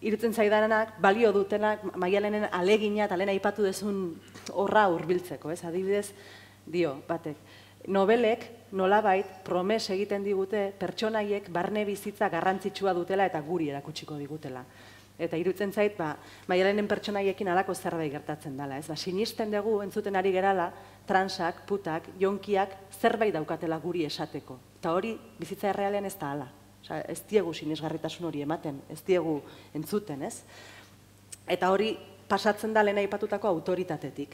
irutzen zaidanak, balio dutenak, Maialenen alegina eta lehen aipatu dezun horra hurbiltzeko, ez? Adibidez, dio, batek, nobelek nolabait promes egiten digute pertsonaiek barne bizitza garrantzitsua dutela eta guri erakutsiko digutela. Eta irutzen zait, Maialenen pertsonaiekin halako zerbait gertatzen dela, ez? Sinisten dugu entzuten ari gerala, transak, putak, jonkiak zerbait daukatela guri esateko. Eta hori bizitza errealean ez da hala. Ez diegu sinesgarritasun hori ematen, ez diegu entzuten, ez? Eta hori pasatzen da lehen aipatutako autoritatetik.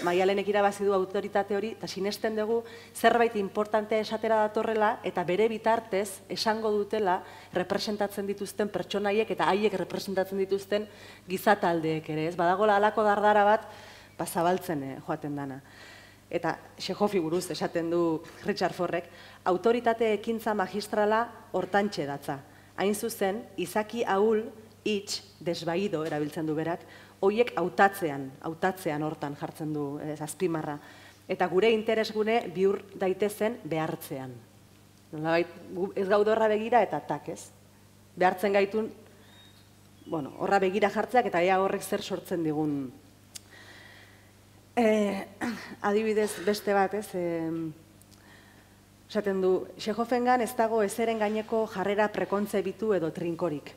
Maialenek irabazi du autoritate hori, eta sinesten dugu zerbait importantea esatera datorrela, eta bere bitartez esango dutela representatzen dituzten pertsonaiek eta haiek representatzen dituzten gizataldeek ere, ez? Badagola halako dardara bat, zabaltzen joaten dana. Eta Chekhovi buruz esaten du Richard Forrek, autoritate ekintza magistrala hortantxe datza. Hain zuzen, izaki ahul hitz, desbaido erabiltzen du berak, horiek hautatzean hortan jartzen du azpimarra. Eta gure interesgune bihur daitezen behartzean. Nolabait, ez gaude horra begira eta tak, ez? Behartzen gaitun, bueno, horra begira jartzeak eta ea horrek zer sortzen digun. Adibidez beste bat, ez? Esaten du, Chekhovengan ez dago ezeren gaineko jarrera prekontzebitu edo trinkorik.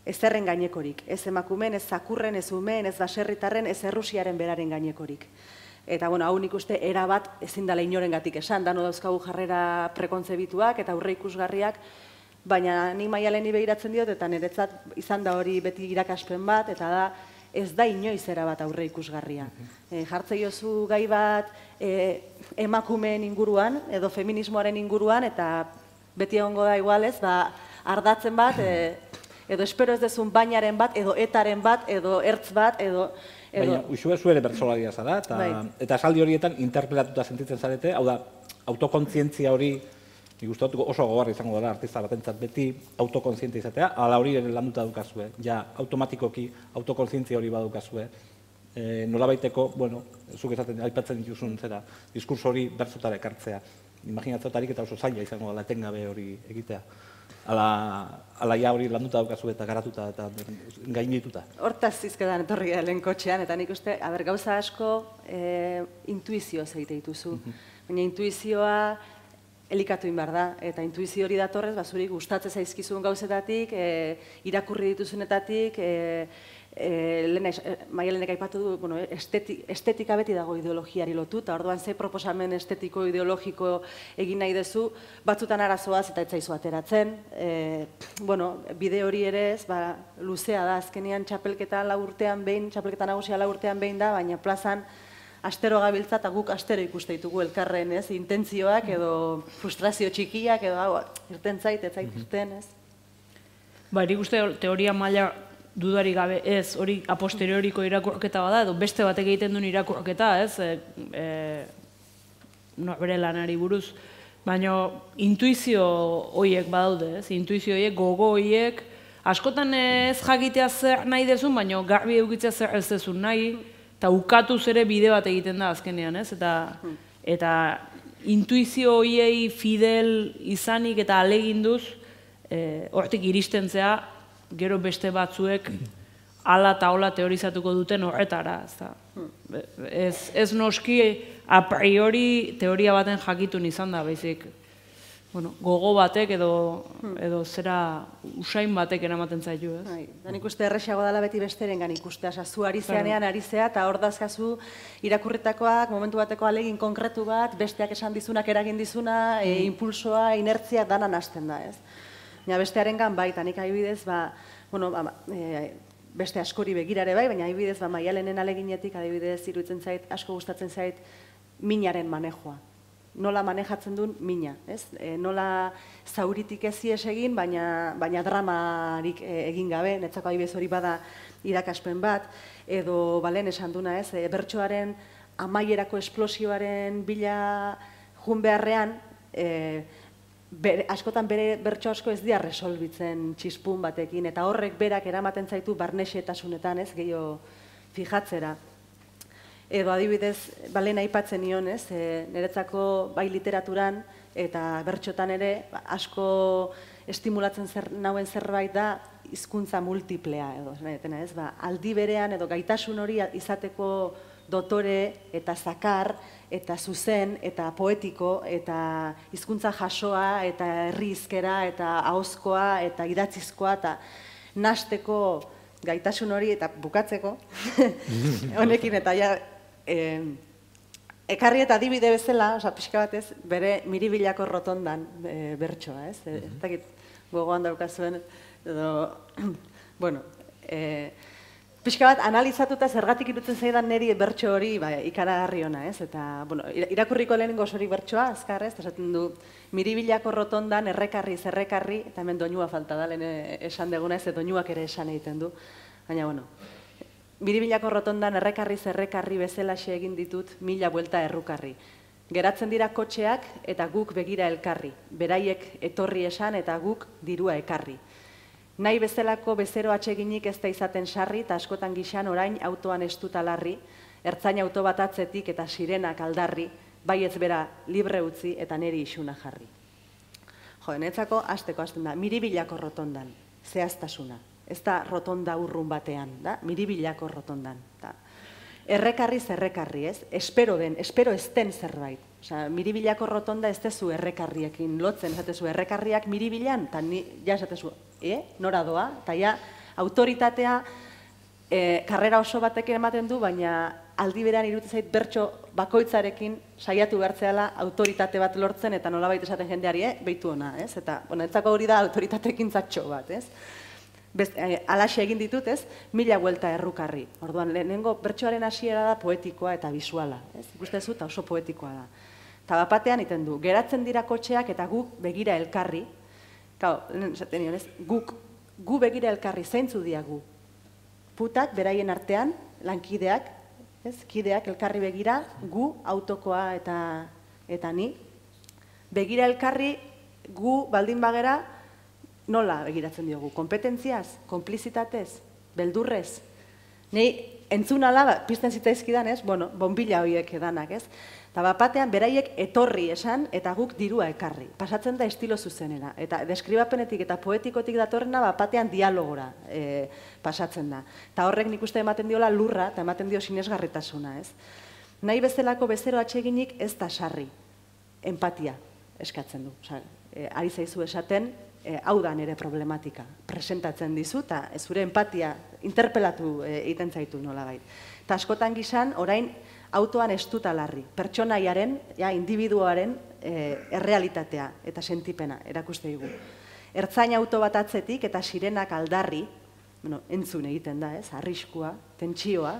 Ezerren gainekorik. Ez emakumen, ez zakurren, ez umeen, ez baserritarren, ez errusiaren beraren gainekorik. Eta, bueno, hau nik uste erabat ezin dela inorengatik esan, dano dauzkagu jarrera prekontzebituak eta aurre ikusgarriak, baina nik Maialeni begiratzen diot, eta niretzat izan da hori beti irakaspen bat, eta da ez da inoiz erabat aurre ikusgarria. Jartzei jozu gai bat emakumeen inguruan, edo feminismoaren inguruan, eta beti egongo da igualez, ardatzen bat, edo espero ez dezun bainaren bat, edo etaren bat, edo ertz bat, edo... Baina, usue zuere bertsolaria zara, eta esaldi horietan interpelatuta sentitzen zarete, hau da, autokontzientzia hori, nik uste dut oso gogorra izango dela artista batentzat beti autokontzientzia izatea, ala hori ere landuta daukazue, ja, automatikoki autokontzientzia hori badukazue, nolabaiteko, bueno, zuk esaten aipatzen dituzun zera, diskurso hori bertzotara ekartzea, imaginatzotarik eta oso zaila izango dela etengabe hori egitea. Ala ja hori landuta daukazu eta garatuta eta gaindituta. Hortaz zizkedan etorri lehen kotxean, eta nik uste, gauza asko intuizioz egite dituzu. Baina intuizioa elikatu behar da, eta intuizio hori datorrez, zuri gustatzen zaizkizun gauzetatik, irakurri dituzunetatik, Maialenek aipatu du, estetika beti dago ideologiari lotuta, orduan ze proposamen estetiko ideologiko egin nahi duzu, batzutan arazoaz eta etzaizu ateratzen. Bide hori ere ez, luzea da, azkenean txapelketa nagusia 4 urtean behin da, baina plazan astero gabiltza eta guk astero ikuste ditugu elkarren, ez, intentzioak edo frustrazio txikiak edo irten zait, ez zait irten, ez. Nik uste teoria maila dudari gabe ez, hori a posterioriko irakurketa bada, edo beste batek egiten duen irakurketa, ez, bere lanari buruz, baina intuizio horiek badaude, ez, intuizio horiek, gogo horiek, askotan ez jakitea zer nahi dezun, baina garbi eukitzea zer ez dezun nahi, eta ukatuz ere bide bat egiten da azkenean, ez, eta intuizio horiei fidel izanik eta aleginduz, hortik iristen zea, gero beste batzuek ala eta hola teorizatuko duten horretara. Ez noski a priori teoria baten jakitun izan da, baizik gogo batek edo zera usain batek eramaten zaitu, ez? Nik uste erresago dela beti besterengan ikustea, zu ari zeanean ari zea, eta hor dazkazu irakurritakoak, momentu bateko alegin konkretu bat, besteak esan dizunak eragin dizuna, impulsoa, inertzia danan hasten da, ez? Bestearengan bai, eta nik adibidez, beste askori begirare bai, baina adibidez, Maialenen aleginetik, adibidez, iruditzen zait, asko gustatzen zait, minaren manejoa. Nola manejatzen duen mina, ez? Nola zauritik ezies egin, baina dramarik egin gabe, netzako adibidez hori bada irakaspen bat, edo balen esan duna, ez? Bertsoaren amaierako esplosioaren bila jun beharrean, askotan bere bertso asko ez dira resolbitzen txispun batekin, eta horrek berak eramaten zaitu barnexetasunetan, ez, gehiago fijatzera. Edo adibidez, balen aipatzen nion, ez, niretzako bai literaturan eta bertxotan ere asko estimulatzen nauen zerbait da hizkuntza multiplea, edo, ez, aldi berean edo gaitasun hori izateko dotore eta zakar, eta zuzen, eta poetiko, eta hizkuntza jasoa, eta herrizkera, eta ahozkoa, eta idatzizkoa, eta nasteko gaitasun hori, eta bukatzeko, honekin, eta ja, ekarri eta adibide bezala, pixka batez, bere Miribilako rotondan bertsoa, ez? Ez dakit gogoan daukazuen, edo, pixka bat, analizatuta zergatik irutzen zaidan niri bertso hori ikaragarri ona, ez? Eta, irakurriko lehenengo osorik bertsoa, azkar, ez? Esaten du, Miribilako rotondan errekarri, zerrekarri, eta hemen doinua falta da, lehen esan deguna ez, doinuak ere esan egiten du. Baina, Miribilako rotondan errekarri, zerrekarri bezalaxe egin ditut 1000 buelta errukarri. Geratzen dira kotxeak eta guk begira elkarri. Beraiek etorri esan eta guk dirua ekarri. Nahi bezalako bezero atseginik ez da izaten sarri, eta askotan gixan orain autoan estuta larri, ertzain auto bat atzetik eta sirenak aldarri, bai ez bera libre utzi eta neri isuna jarri. Jo, netzako hasteko hasten da, miribilako rotondan, zehaztasuna. Ez da rotonda urrun batean, da? Miribilako rotondan. Da. Errekarri, ez? Espero ez den zerbait. Osea, miribilako rotonda ez dezu errekarriekin lotzen, esatezu errekarriak miribilan, eta ni ja esatezu, nora doa, eta ja autoritatea karrera oso batekin ematen du, baina aldi berean iruditzen zait bertso bakoitzarekin saiatu behartzeala autoritate bat lortzen, eta nolabait esaten jendeari, behitu ona, ez? Eta, netzako hori da autoritatekin zatxo bat, ez? Alaxe egin ditut, ez? 1000 buelta errukarri. Orduan, lehenengo bertsoaren hasiera da poetikoa eta bisuala, ez? Ikustezu eta oso poetikoa da. Eta bapatean iten du, geratzen dira kotxeak eta guk begira elkarri. Kau, esaten nion, ez? Gu begira elkarri, zeintzu diagu? Putak, beraien artean, lankideak, ez? Kideak elkarri begira, gu autokoa eta ni. Begira elkarri, gu baldin bagera, nola begiratzen diogu? Kompetentziaz, konplizitatez, beldurrez. Nei entzun ala, pizten zitaizkidan, ez? Bueno, bonbila horiek edanak, ez? Eta bapatean beraiek etorri esan eta guk dirua ekarri. Pasatzen da estilo zuzenera. Eta deskribapenetik eta poetikotik datorrena bapatean dialogora pasatzen da. Eta horrek nik uste ematen diola lurra eta ematen dio sinesgarritasuna, ez? Nahi bezalako bezero atseginik ez da sarri. Empatia eskatzen du. Ari zaizu esaten, hau da nire problematika, presentatzen dizu, eta zure empatia interpelatu egiten zaitu nolabait. Eta askotan gizan, orain autoan estuta larri, pertsonaiaren, individuaren errealitatea eta sentipena erakuste digu. Ertzain auto bat atzetik eta sirenak aldarri, entzun egiten da, arriskua, tentsioa,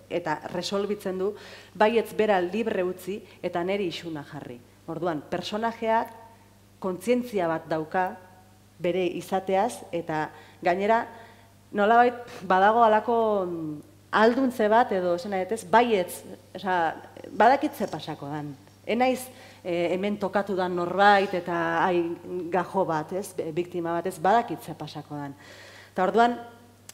eta resolbitzen du, baietz bera libre utzi eta neri isuna jarri. Orduan, personajeak kontzientzia bat dauka, bere izateaz, eta gainera, nolabait badago alako alduntze bat, edo, baietz, badakitze pasako dan. Enaiz hemen tokatu dan norbait, eta gajo bat, biktima bat, badakitze pasako dan. Eta orduan,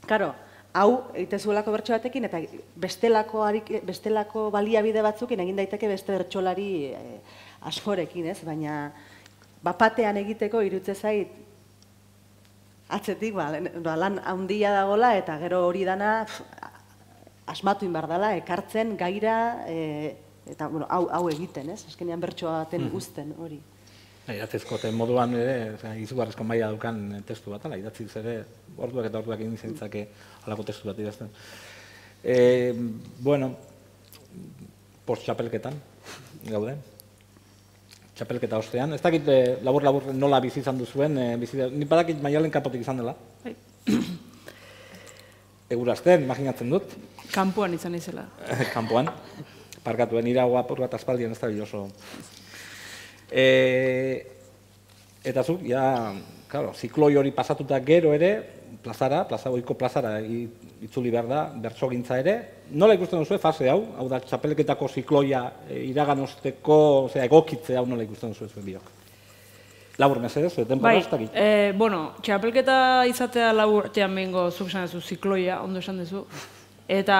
karo, hau, egitezuelako bertso batekin, eta bestelako baliabide batzukin egin daiteke beste bertsolari askorekin, baina bapatean egiteko irutze zait, atzetik, lan handia dagoela, eta gero hori dana asmatu inbar dela, ekartzen, gaira, eta hau egiten, azkenean bertsoa baten guzten hori. Idatzizkoten moduan ere, izugarrizko maila dukan testu bat, idatziz ere, orduak eta orduak egin zintzake halako testu bat idazten. Bueno, post-txapelketan gaude. Txapelketa ostean. Ez dakit labur-labur nola bizi izan duzuen, ni badakit Maialen kanpotik izan dela. Egurazten, imaginatzen dut. Kanpoan izan izela. Kanpoan. Parkatuen iragoa apur bat aspaldian ez da oso. Eta zuk, zikloi hori pasatuta gero ere, plazagoiko plazara itzuli behar da, bertsogintza ere. Nola ikusten duzu fase hau da txapelketako zikloia iraganosteko, egokitze hau nola ikusten duzu zuen biok? Labur mesedez, denbora ez dakit? Bueno, txapelketa izatea labur urtean behingo zuk esan duzu zikloia, ondo esan duzu. Eta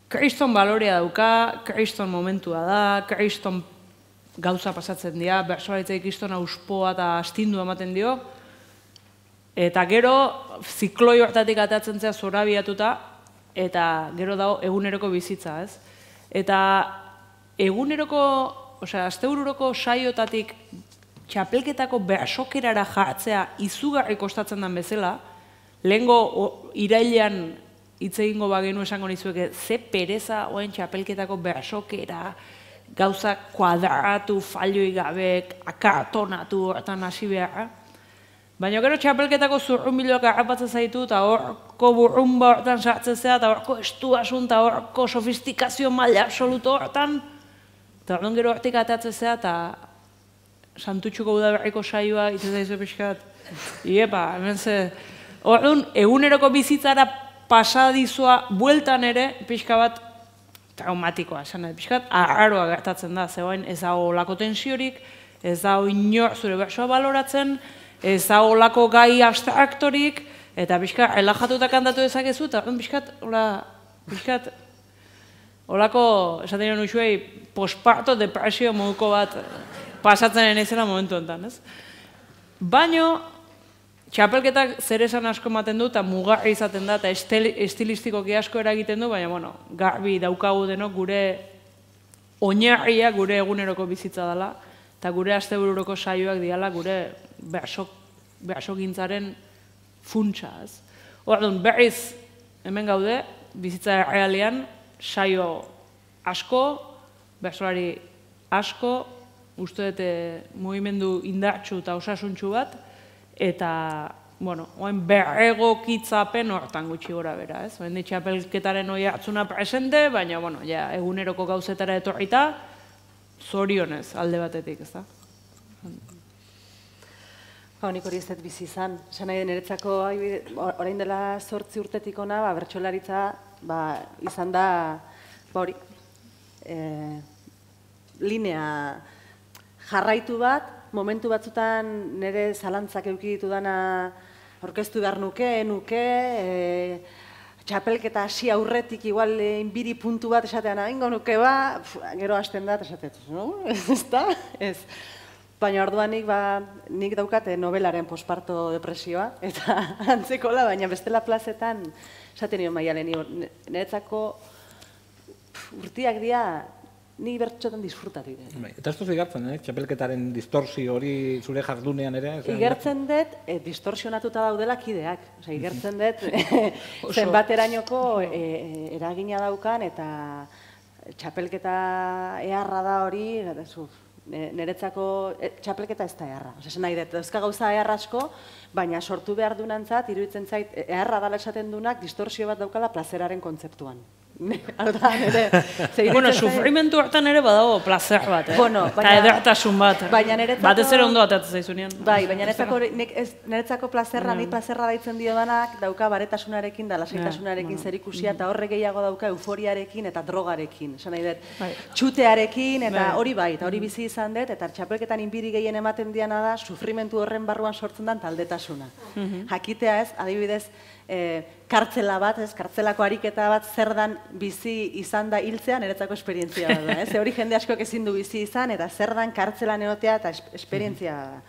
kriston balorea dauka, kriston momentua da, kriston gauza pasatzen dira, bersolaritzei kriston auspoa eta astindu ematen dio. Eta gero, zikloi hortatik atatzen zea zorabiatuta, eta gero dago eguneroko bizitza, ez? Eta eguneroko, astebururoko saiotatik txapelketako bersokerara jartzea izugarri kostatzen den bezala, lehengo irailean hitz egingo bagenu esango nizueke, ze pereza oen txapelketako bersokera, gauza kuadratu, falioi gabe, akartonatu hortan hasi behar. Baina gero txapelketako zurrunbiloak harrapatzen zaitu, eta horko burrumba hortan sartzen zea, eta horko estuasun, eta horko sofistikazio maila absoluto hortan. Eta orduan gero hortik atatzen zea, eta santutxuko udaberriko saioa, itzen zaizu pixkat. Iepa, hemen ze. Orduan, eguneroko bizitzara pasadizua bueltan ere, pixka bat traumatikoa, esan pixkat, arraroa gertatzen da, zegoen ez dago lako tensiorik, ez dago inor zure bersoa baloratzen, ez da olako gai abstraktorik, eta pixka relajatuta kantatu dezakezu, eta pixkat, olako, esaten nuen usuei, posparto depresio moduko bat pasatzen izena momentu enten, ez? Baino, txapelketak zer esan asko ematen du, eta mugarri izaten da, eta estilistikoki asko eragiten du, baina, bueno, garbi daukagu denok gure oinarria gure eguneroko bizitza dela, eta gure astebururoko saioak diala gure behasogintzaren funtsa, ez? Orduan, berriz hemen gaude, bizitza errealean, saio asko, bersolari asko, uste dute mugimendu indartsu eta osasuntsu bat, eta, bueno, oain berregokitzapen hortan gutxi gora bera, ez? Oain txapelketaren hori hartzuna presente, baina, bueno, ja, eguneroko gauzetara etorrita, zorionez alde batetik, ez da? Nik hori ez dut bizi izan. Esan nahi niretzako, orain dela 8 urtetik ona, bertsolaritza izan da, hori, linea jarraitu bat, momentu batzutan nire zalantzak eduki ditudana orkestu behar nuke, txapelketa hasi aurretik igual inbiri puntu bat esatean ingo nuke gero hasten da, esatet, no? Ez da? Ez. Baina orduan nik daukat nobelaren posparto depresioa, eta antzekola, baina bestela plazetan, esaten nion Maialen, niretzako urtiak dira, ni bertxotan disfrutatu dut. Eta ez duzu igartzen, txapelketaren distorsio hori zure jardunean ere? Igertzen dut, distorsionatuta daudela kideak. Igertzen dut, zenbaterainoko eragina daukan, eta txapelketa eharra da hori, niretzako txapelketa ez da eharra. Esan nahi dut, dauzka gauza eharra asko, baina sortu behar dunantzat, iruditzen zait, eharra dala esaten dunak, distorsio bat daukala plazeraren kontzeptuan. Bueno, sufrimentu hartan ere badago plazer bat, eta edertasun bat. Batez ere ondo atatzen zaizunean. Bai, baina niretzako plazerra, ni plazerra daitzen diodanak, dauka baretasunarekin da lasaitasunarekin zerikusia, eta horre gehiago dauka euforiarekin eta drogarekin. Esan nahi dut, txutearekin, eta hori bai, eta hori bizi izan dut, eta txapelketan inbiri gehien ematen diana da, sufrimentu horren barruan sortzen den taldetasuna. Jakitea ez, adibidez, kartzela bat, kartzelako ariketa bat zer dan bizi izan da hiltzea niretzako esperientzia bat da. Hori jende askoak ezin du bizi izan, eta zer dan kartzelan egotea eta esperientzia da.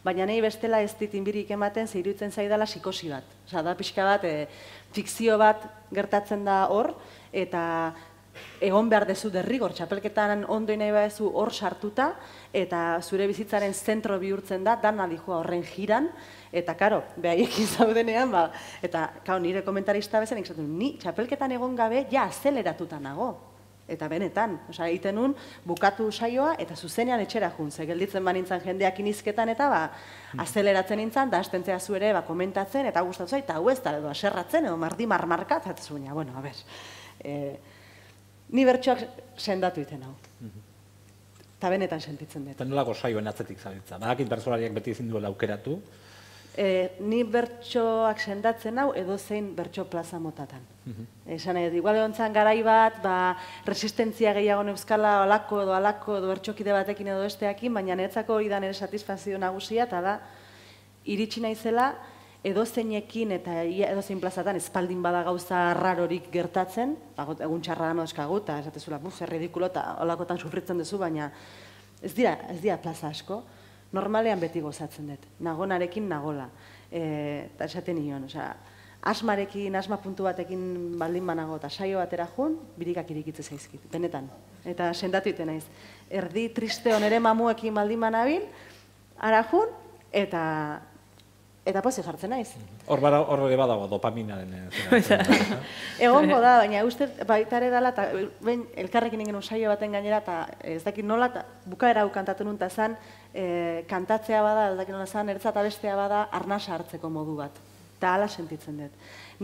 Baina nahi bestela ez dit inbirik ematen, ze iruditzen zaidala psikosi bat. Osa, da pixka bat, fikzio bat gertatzen da hor, eta egon behar dezu derrigor, txapelketan ondo nahi badezu hor sartuta, eta zure bizitzaren zentro bihurtzen da, dana dijoa horren jiran, eta, karo, behaiekin zaudenean, eta, nire komentarista bezen, ni txapelketan egon gabe, ja, azeleratuta nago. Eta benetan, egiten nun, bukatu saioa, eta zuzenean etxera jun, ze gelditzen banintzen jendeak inizketan, eta azeleratzen nintzen, da astentzea zuere komentatzen, eta gustatu eta hau ez da, edo aserratzen, edo mardi marmarkat, eta zuena, bueno, a ber, ni bertsoak sendatu iten hau. Eta benetan sentitzen dut. Eta nolako saioen atzetik zabiltza? Badakit bertsolariak beti ezin duela aukeratu? Ni bertsoak sendatzen hau edozein bertso plaza motatan. Esan nahi, igual egontzan garai bat, resistentzia gehiago euskala alako edo bertsokide batekin edo besteakin, baina niretzako hori da nire satisfazio nagusia, eta da, iritsi naizela, edozeinekin eta edozein plazatan espaldin bada gauza rarorik gertatzen, egun txarra da nozkagu, eta esatezula, zer ridikulo, eta olakotan sufritzen duzu, baina ez dira plaza asko. Normalean beti gozatzen dut, nagonarekin nagola. Eta esaten nion, asmarekin, asma puntu batekin baldin banago eta saio batera jun, birikak irikitze zaizkit, benetan. Eta sendatu iten naiz. Erdi triste onere mamuekin baldin banabil, ara jun, eta pozik jartzen naiz. Hor ere badago dopaminaren. Egongo da, baina uste baitare dela, eta elkarrekin ingen saio baten gainera, eta ez dakit nola, bukaera hau kantatu nun, eta zan, kantatzea bada, ez dakit nola zan, ertza eta bestea bada, arnasa hartzeko modu bat. Eta hala sentitzen dut.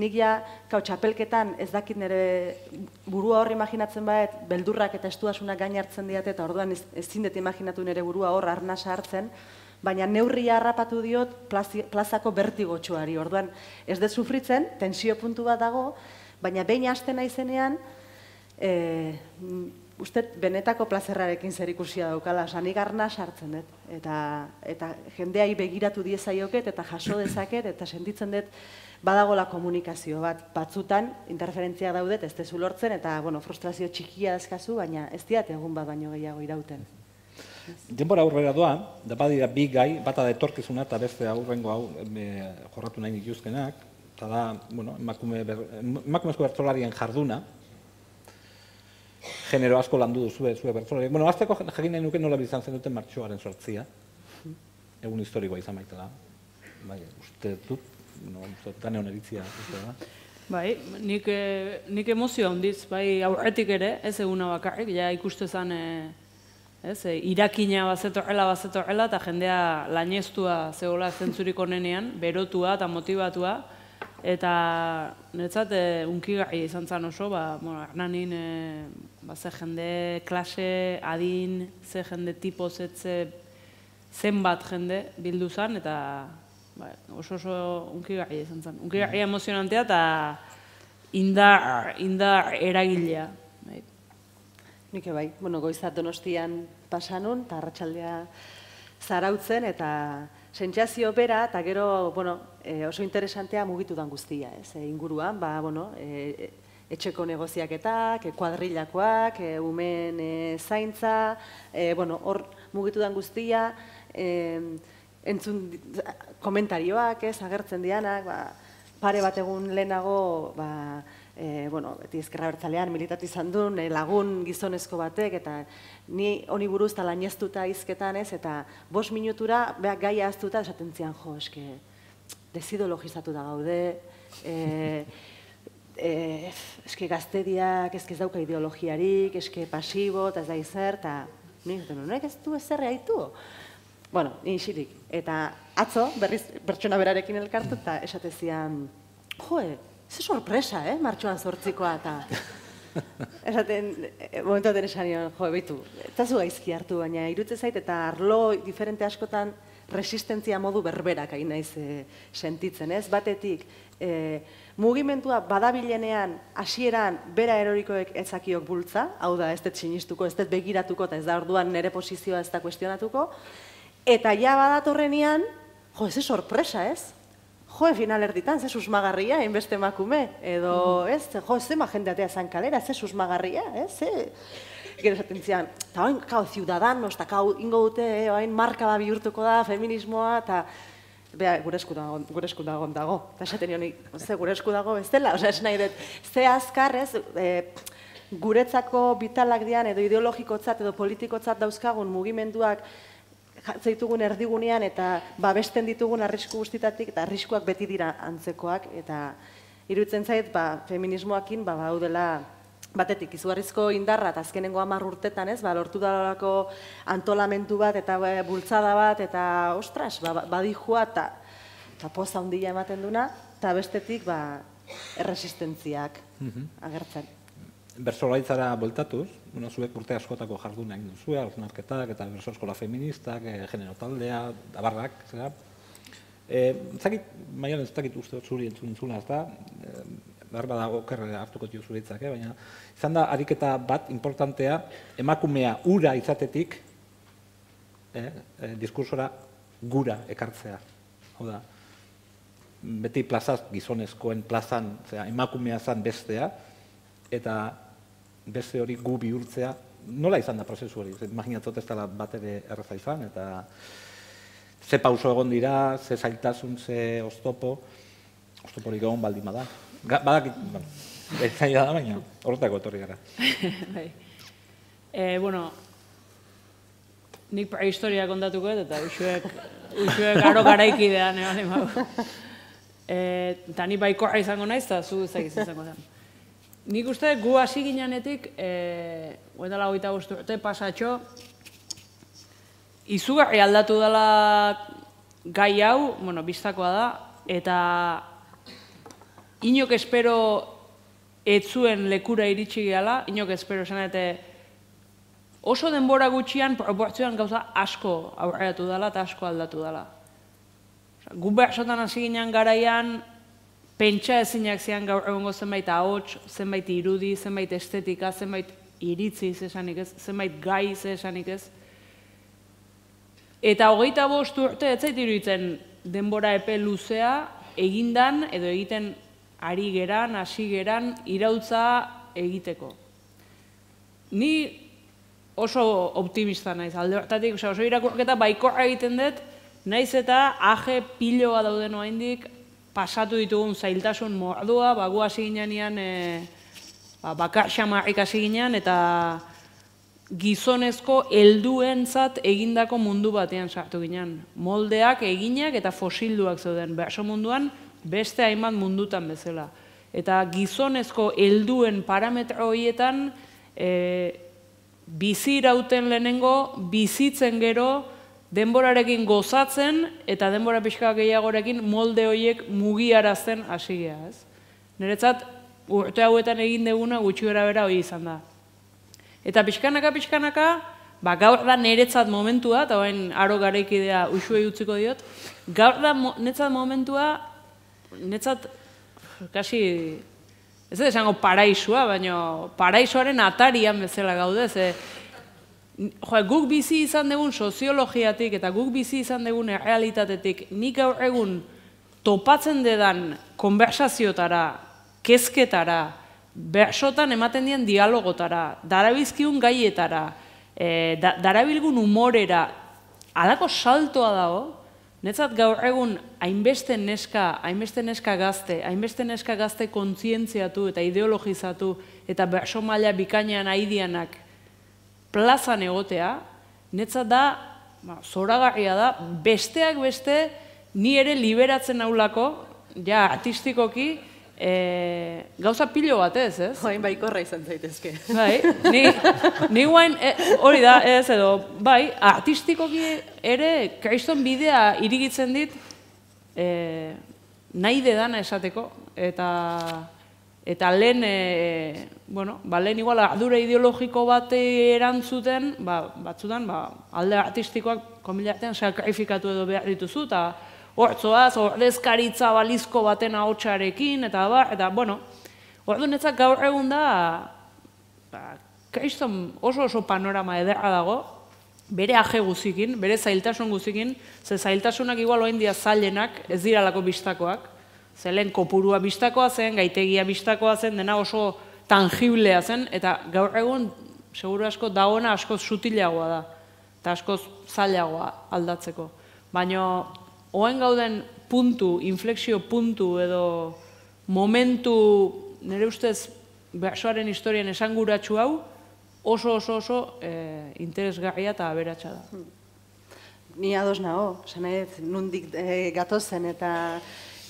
Nik ja, txapelketan ez dakit nire burua hor imaginatzen baet, beldurrak eta estuasunak gain hartzen diate, eta orduan ezin dut imaginatu nire burua hor arnasa hartzen, baina neurria harrapatu diot plazako bertigotxuari. Orduan ez dut sufritzen, tensio puntu bat dago, baina behin hasten naizenean, uste benetako plazerrarekin zer ikusia daukala, nik arna sartzen dut, eta jendeai begiratu diezaioket, eta jaso dezaket, eta sentitzen dut badagola komunikazio bat, batzutan interferentzia daudet, ez dezu lortzen, eta frustrazio txikia dazkazu, baina ez diat egun bat baino gehiago irauten. Denbora aurrera doa, da badira bi gai, bata da etorkizuna eta beste aurrengo hau jorratu nahi dituzkenak, eta da, emakumezko bertsolarien jarduna, genero asko landu duzue bertsolariek. Azteko jakin nahi nuke nola bizan zen duten martxoaren sortzia, egun historikoa izan baitela. Bai, uste dut, gane honeritzia, uste da. Bai, nik emozio handiz, bai, aurretik ere, ez eguna bakarrik, ja ikustezan, irakina bazetorrela, eta jendea laineztua zegoela zentzurik onenean, berotua eta motivatua, eta niretzat unkigarria izan zen oso, Hernanin ze jende klase, adin, ze jende tipo, zenbat jende bildu zen, eta oso unkigarria izan zen. Unkigarria emozionantea eta indar eragilea. Nik bai, goizat Donostian pasanun, eta arratsaldea zarautzen, eta sentsazio bera, eta gero oso interesantea mugitu dan guztia, inguruan, etxeko negoziaketak, kuadrilakoak, umen zaintza, hor mugitu dan guztia, entzun komentarioak, agertzen dianak, pare bat egun lehenago, beti ezkerra bertzalean militatu izan duen lagun gizonezko batek, eta ni honi buruz eta laineztuta izketan ez, eta 5 minutura gaia aztuta esaten zian, desidologizatu da gaude, eske gazteriak, eske ez dauka ideologiarik, eske pasibo, eta ez da izer, eta nik ez du ezerre haitu. Ni isirik. Eta atzo, berriz pertsona berarekin elkartu, eta esatezian, ze sorpresa, martxoan 8koa, eta esaten, momentu baten esan nion, behitu, eta zu gaizki hartu, baina irutze zait, eta arlo diferente askotan resistentzia modu berberak hain naiz sentitzen, ez? Batetik, mugimendua badabilenean, hasieran bera erorikoek etzakiok bultza, hau da, ez dut sinistuko, ez dut begiratuko, eta ez da orduan nire posizioa ez da kuestionatuko, eta ja badatorrenean, ze sorpresa, ez? Final erditan, ze susmagarria, hainbeste emakume, edo, ez? Zema jendeatea zan kalera, ze susmagarria, ez? Gero esaten zian, eta hain, ciudadanos, eta ingo dute, hain marka da bihurtuko da, feminismoa, eta gure esku dago. Eta esaten nion, gure esku dago ez dela, esan nahi dut, ze azkar, ez? Guretzako bitalak dian, edo ideologikotzat, edo politikotzat dauzkagun mugimenduak zaitugun erdigunean eta babesten ditugun arrisku guztitatik, eta arriskuak beti dira antzekoak, eta iruditzen zait, feminismoakin daudela batetik izugarrizko indarra, eta azkenengo 10 urtetan, lortu dalako antolamendu bat, eta bultzada bat, eta ostras, badijua, eta poza handia ematen duna, eta bestetik erresistentziak agertzen. Bertsolaritzara bueltatuz, zuek urte askotako jarduna egin duzue, hausnarketak eta bertso eskola feministak, genero taldea, abarrak, zera. Zakit, Maialen, ez dakit uste zuri entzuna, ez da, behar bada okerre hartuko dio zure hitzak, baina izan da ariketa bat importantea, emakumea ura izatetik, diskursora gura ekartzea. Hau da, beti plazaz, gizonezkoen plazan, emakumea zan bestea, eta beste hori gu bihurtzea, nola izan da prozesu hori? Imaginatzot ez dela bat ere erraza izan, eta ze pauso egon dira, ze zailtasun, ze oztoporik egon baldin bada. Badakit, ez zaila da, baina horretako etorri gara. Nik prehistoria kontatuko eta usuek aro garaikidean, eta ni baikorra izango naiz, eta zu ezagiz izango zen. Nik uste gu hasi ginenetik, oendala 25 urte pasatxo, izugarri aldatu dela gai hau, biztakoa da, eta inok espero etzuen lekura iritsi gehala, inok espero esan oso denbora gutxian proportzioan gauza asko aurreratu dela eta asko aldatu dela. Gu behasotan hasi ginen garaian, pentsa ezinak zian gaur egongo zenbait ahots, zenbait irudi, zenbait estetika, zenbait iritzi esanik ez, zenbait gai esanik ez. Eta 25 urte ez zait iruditzen denbora epe luzea egindan edo egiten ari geran, hasi geran, iraultza egiteko. Ni oso optimista naiz, alde hortatik, oso irakurketa baikorra egiten dut, naiz eta aje piloa dauden oraindik pasatu ditugun zailtasun mordua, gu hasi ginean bakar xamarrik hasi ginean, eta gizonezko helduentzat egindako mundu batean sartu ginen. Moldeak, eginak eta fosilduak zeuden, berso munduan beste hainbat mundutan bezala. Eta gizonezko helduen parametro horietan bizi irauten lehenengo, bizitzen gero, denborarekin gozatzen eta denbora pixka gehiagorekin molde horiek mugiarazten hasi gea, ez? Niretzat, urte hauetan egin deguna gutxi gara bera hori izan da. Eta pixkanaka, gaur da niretzat momentua, eta bain aro garaikidea uxuei utziko diot, gaur da niretzat momentua, niretzat, kasi, ez da esango paraisua, baina paraisoaren atarian bezala gaudez, guk bizi izan dugun soziologiatik eta guk bizi izan dugun errealitatetik nik gaur egun topatzen dedan konbersaziotara, kezketara, bersotan ematen dien dialogotara, darabilzkiun gaietara, darabilgun humorera, halako saltoa dago, netzat gaur egun hainbeste neska gazte kontzientziatu eta ideologizatu eta berso maila bikainean aidianak plazan egotea, netzat da, zoragarria da, besteak beste, ni ere liberatzen naulako, ja artistikoki, gauza pilo bat ez? Joain baikorra izan zaitezke. Bai, ni guain, hori da, ez edo, bai, artistikoki ere, kriston bidea irigitzen dit, nahi dedana esateko, eta lehen, lehen igual ardura ideologiko bat erantzuten, batzutan, alde artistikoak komilartean sakrifikatu edo behar dituzu, eta hortzoaz, ordezkaritza balizko baten ahotsarekin, eta ordu netzak gaur egun da, kriston oso panorama ederra dago, bere aje guzikin, bere zailtasun guzikin, ze zailtasunak igual oain dia zailenak, ez diralako bistakoak, ze lehen kopurua bistakoa zen, gaitegia bistakoa zen, dena oso tangiblea zen, eta gaur egun, seguru asko, dagoena askoz sutilagoa da, eta askoz zailagoa aldatzeko. Baina, oain gauden puntu, inflexio puntu edo momentu, nire ustez, bersoaren historian esanguratsu hau, oso interesgarria eta aberatsa da. Ni ados nago, nondik gatozen eta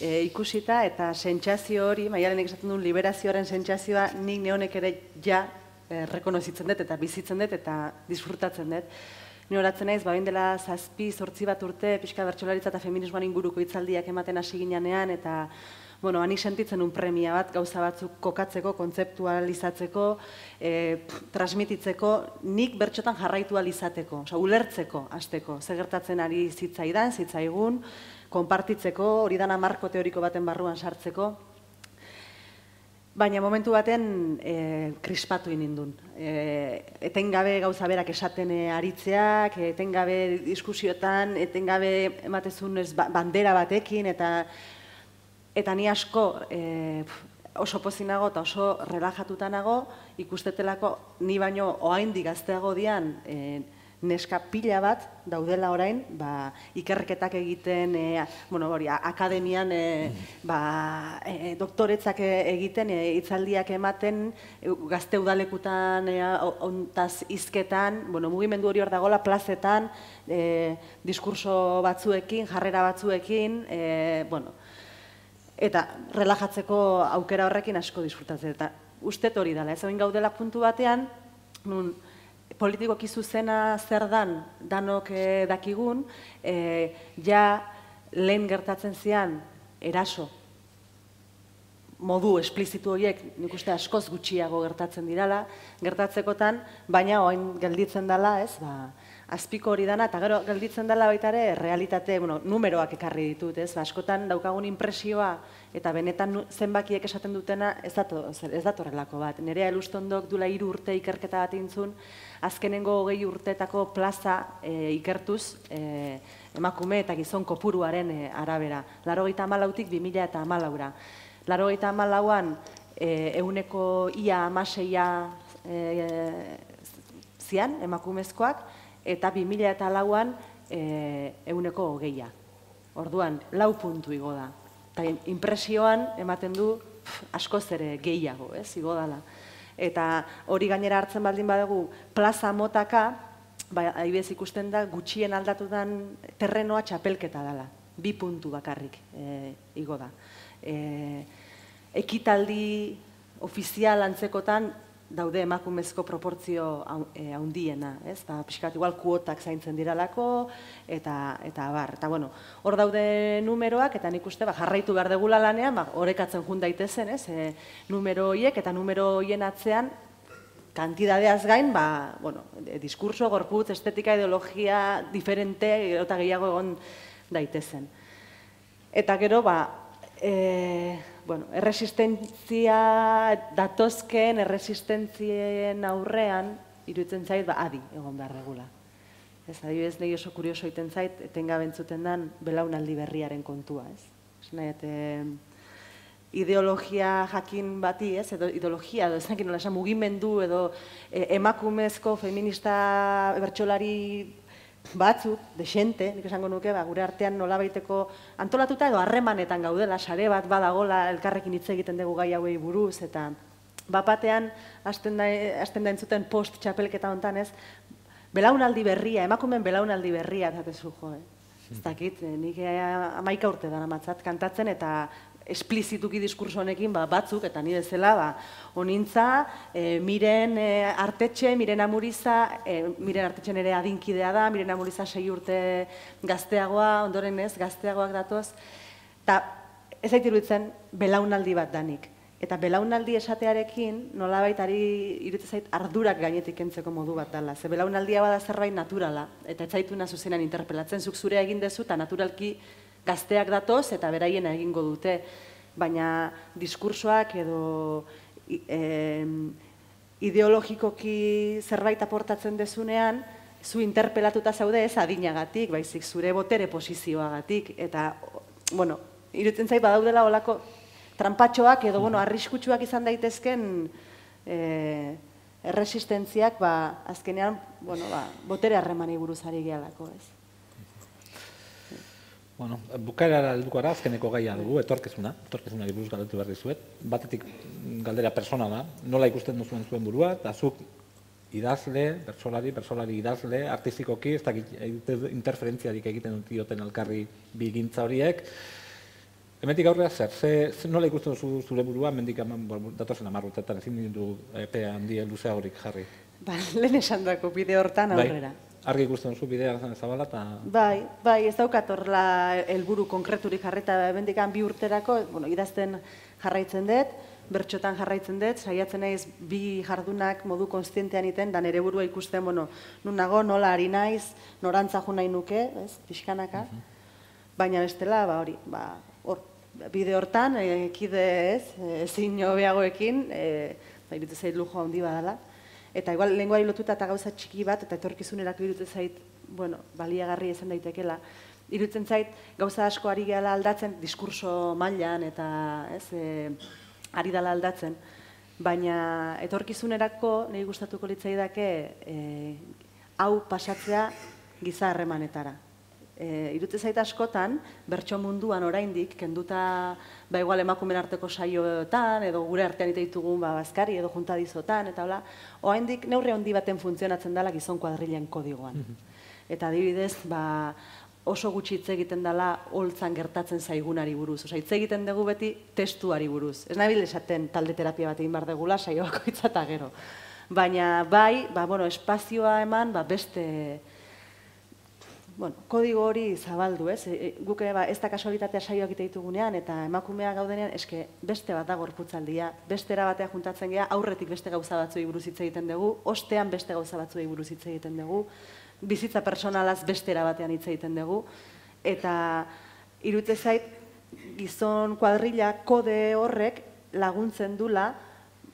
ikusita, eta sentsazio hori, Maialenek esaten duen liberazioaren sentsazioa, nik neonek ere ja rekonozitzen dut eta bizitzen dut eta disfrutatzen dut. Ni horatzen naiz, bain dela 7-8 bat urte, pixka bertsolaritza eta feminismoan inguruko hitzaldiak ematen hasi ginean, eta hanik sentitzen un premia bat, gauza batzuk kokatzeko, kontzeptualizatzeko, transmititzeko, nik bertxotan jarraitu alizateko, ulertzeko, hasteko, zer gertatzen ari zitzaigun, konpartitzeko, hori dana marko teoriko baten barruan sartzeko, baina momentu baten krispatu inindun. Etengabe gauza berak esaten aritzeak, etengabe diskusiotan, etengabe ematezun bandera batekin, eta ni asko oso pozinago eta oso relajatuta nago, ikustetelako ni baino oraindik gazteago dian neska pila bat daudela orain, ikerketak egiten, akademian doktoretzak egiten, hitzaldiak ematen, gazte udalekutan, ontaz hizketan, mugimendu hori hor dagoela, plazetan, diskurso batzuekin, jarrera batzuekin, eta relajatzeko aukera horrekin asko disfrutatzen. Eta uste hori dela, ez hain gaudela puntu batean, nun politikoki zuzena zer dan danok dakigun, ja lehen gertatzen zian eraso modu esplizitu horiek nik uste askoz gutxiago gertatzen dirala, gertatzekotan, baina oain gelditzen dela, ez, azpiko hori dana, eta gero gelditzen dela baita ere, realitate, numeroak ekarri ditut, ez? Askotan daukagun impresioa, eta benetan zenbakiek esaten dutena ez datorrelako bat. Nerea Elustondok dula 3 urte ikerketa bat intzun, azkenengo 20 urteetako plaza ikertuz, emakume eta gizon kopuruaren arabera. 94tik 2014ra. 94an ehuneko ia 16 zian emakumezkoak, eta 2004an ehuneko 20. Orduan, 4 puntu igo da. Eta impresioan ematen du askoz ere gehiago, igo dala. Eta hori gainera hartzen baldin badugu plaza motaka, adibidez ikusten da gutxien aldatudan terrenoa txapelketa dela. 2 puntu bakarrik igo da. Ekitaldi ofizial antzekotan daude emakumezko proportzio handiena, ez? Pixkat igual kuotak zaintzen diralako, eta abar. Eta bueno, hor daude numeroak, eta nik uste jarraitu behar degula lanean, orekatzen jun daitezen, ez? Numero horiek, eta numero horien atzean, kantidadeaz gain, diskurso, gorputz, estetika, ideologia, diferente, eta gehiago egon daitezen. Eta gero, erresistentzia datozkeen erresistentzien aurrean, iruditzen zait, adi egon behar regula. Ez, adibidez, nahi oso kurioso iten zait, etengabe entzuten den belaunaldi berriaren kontua, ez? Ez nahi, ideologia jakin bati, ez? Edo ideologia, edo ez nahi nola esan mugimendu, edo emakumezko, feminista bertsolari batzuk, desente, nik esango nuke, gure artean nolabaiteko antolatuta edo harremanetan gaudela, sare bat badagola elkarrekin hitz egiten dugu gai hauei buruz, eta bapatean hasten da entzuten post txapelketa hontan, ez, belaunaldi berria, emakumeen belaunaldi berria, esatezu jo, ez dakit, nik 11 urte dara matzat kantatzen, eta esplizituki diskurso honekin batzuk, eta nire zela, onintza, Miren Artetxe, Miren Amuriza, Miren Artetxe nire adinkidea da, Miren Amuriza 6 urte gazteagoa, ondoren ez, gazteagoak datoz, eta ez zait iruditzen belaunaldi bat danik. Eta belaunaldi esatearekin, nolabait iruditzen zait ardurak gainetik kentzeko modu bat dela. Ze belaunaldia bada zerbait naturala, eta ez zaitu zuzenan interpelatzen, zuk zure egin dezu, eta naturalki gazteak datoz eta beraiena egingo dute, baina diskursoak edo ideologikoki zerbait aportatzen dezunean, zu interpelatuta zaude ez adinagatik, baizik zure botere posizioagatik, eta, iruditzen zait badaudela olako trampatxoak edo, arriskutsuak izan daitezken erresistentziak, azkenean, botere harremani buruz ari gehalako, ez. Bukaerara helduko gara, azkeneko gaia dugu, etorkizunari buruz galdetu behar dizuet. Batetik galdera persona da, nola ikusten duzuen zuen burua, eta zuk idazle, bertsolari idazle, artistikoki, ez dakit interferentziarik egiten duten elkarri bi gintza horiek. Hemendik aurrera zer, nola ikusten duzu zure burua, hemendik datozen 10 urteetan ezin ditu epe handi luzea horik jarri? Lehen esan dako bide hortan aurrera. Argi ikusten duzu bidea zabala eta... Bai, ez daukat horrela helburu konkreturik jarreta hemendik 2 urterako, idazten jarraitzen dut, bertxotan jarraitzen dut, saiatzen naiz 2 jardunak modu konstientean iten, da nire burua ikusten, nun nago, nola ari naiz, norantza jo nahi nuke, pixkanaka, baina bestela, bide hortan, ekide ezin hobeagoekin, iruditzen zait lujo handi badala. Eta igual lenguari lotuta eta gauza txiki bat, eta etorkizunerako iruditzen zait, baliagarri izan daitekela. Iruditzen zait, gauza asko ari gehala aldatzen, diskurso mailan eta ari dala aldatzen. Baina etorkizunerako nahi gustatuko litzaidake hau pasatzea giza harremanetara. Iruditzen zait askotan, bertso munduan oraindik, kenduta igual emakumeen arteko saioetan, edo gure artean ite ditugun bazkari edo juntadizotan, eta hola, oraindik neurri handi baten funtzionatzen dela gizon kuadrilen kodigoan. Eta adibidez, oso gutxi hitz egiten dela holtzan gertatzen zaigunari buruz. Osa, hitz egiten dugu beti testuari buruz. Ez nabil esaten talde terapia bat egin behar degula, saio bakoitza eta gero. Baina bai, espazioa eman beste kodigo hori zabaldu, ez? Guk ez da kasualitatea saioak ite ditugunean, eta emakumea gaudenean, eske beste bat da gorputzaldia, beste era batea juntatzen gea, aurretik beste gauza batzuei buruz hitz egiten dugu, ostean beste gauza batzuei buruz hitz egiten dugu, bizitza personalaz beste era batean hitz egiten dugu, eta iruditzen zait, gizon kuadrilla kode horrek laguntzen dula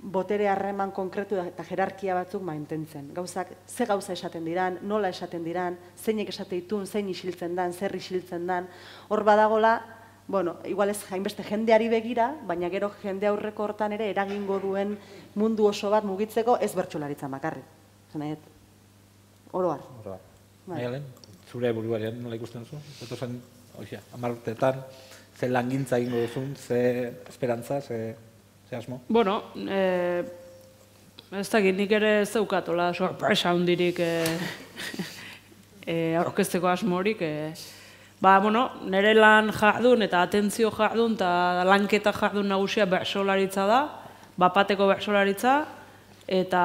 botere harreman konkretu eta jerarkia batzuk mantentzen. Gauzak, ze gauza esaten diran, nola esaten diran, zeinek esate ditun, zein isiltzen dan, zer isiltzen dan. Hor badagola, igual ez hainbeste jendeari begira, baina gero jende aurreko hortan ere eragingo duen mundu oso bat mugitzeko ez bertsolaritzan bakarrik. Oroar. Maialen, zure buruaren nola ikusten zu? Zato zen, 10 urteetan, ze langintza egingo duzun, ze esperantza, ze asmo? Ez dakit, nik ere ez daukatola sorpresa hundirik aurkezteko asmorik. Nire lan jardun eta atentzio jardun eta lanketa jardun nagusia bertsolaritza da, bapateko bertsolaritza, eta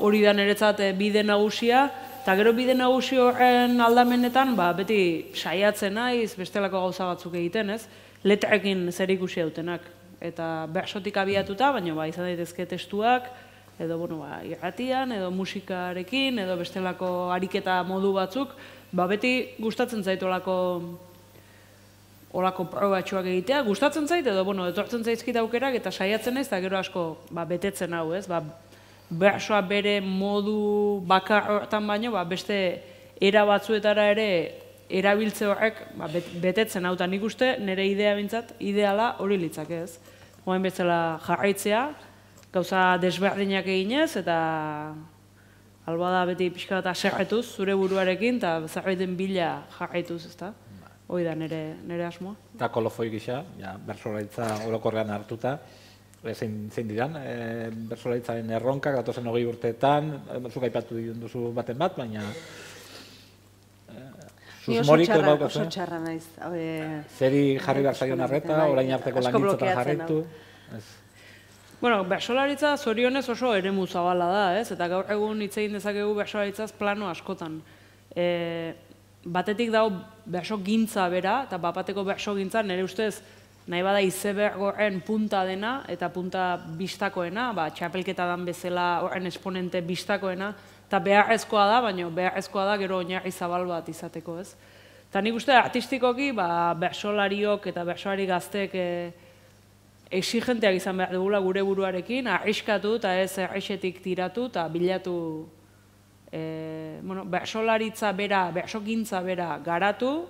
hori da niretzat bide nagusia, eta gero bide nagusi horren aldamenetan beti saiatzen naiz bestelako gauza batzuk egiten, ez? Letrekin zer ikusi dutenak. Eta bertsotik abiatuta, baina izan daitezke testuak, edo irratian, edo musikarekin, edo bestelako ariketa modu batzuk, beti gustatzen zait olako probatxoak egitea, gustatzen zait, edo etortzen zaizkit aukerak, eta saiatzen naiz, eta gero asko betetzen hau, ez? Bertsoa bere modu bakar horretan baino, beste era batzuetara ere erabiltze horrek betetzen hau, eta nik uste nire idea bintzat, ideala hori litzak ez. Hoen bezala jarraitzea, gauza desberdinak eginez, eta alba da beti pixka bat aserretuz zure buruarekin, eta zerbaiten bila jarraituz, ezta? Hoi da nire asmoa. Eta kolofoi gisa, bertsolaritza orokorrean hartuta, zein diran, bertsolaritzaren erronkak, datozen 20 urteetan, zuk aipatu duzu baten bat, baina Ni oso txarra naiz. Zeri jarri behar zaion arreta, orain arteko langintzotan jarraitu? Bertsolaritza zorionez oso eremu zabala da, ez? Eta gaur egun hitz egin dezakegu bertsolaritzaz plano askotan. Batetik dago bertso gintza bera, eta bapateko bertso gintza nire ustez nahi bada izebergoren punta dena, eta punta bistakoena, txapelketa dan bezala horren esponente bistakoena, eta beharrezkoa da, baina beharrezkoa da gero oinarri zabal bat izateko, ez? Eta nik uste artistikoki, bertsolariok eta bertsolari gazteek exigenteak izan behar dugula gure buruarekin, arriskatu eta ez errexetik tiratu eta bilatu bertsolaritza bera, bertsogintza bera garatu,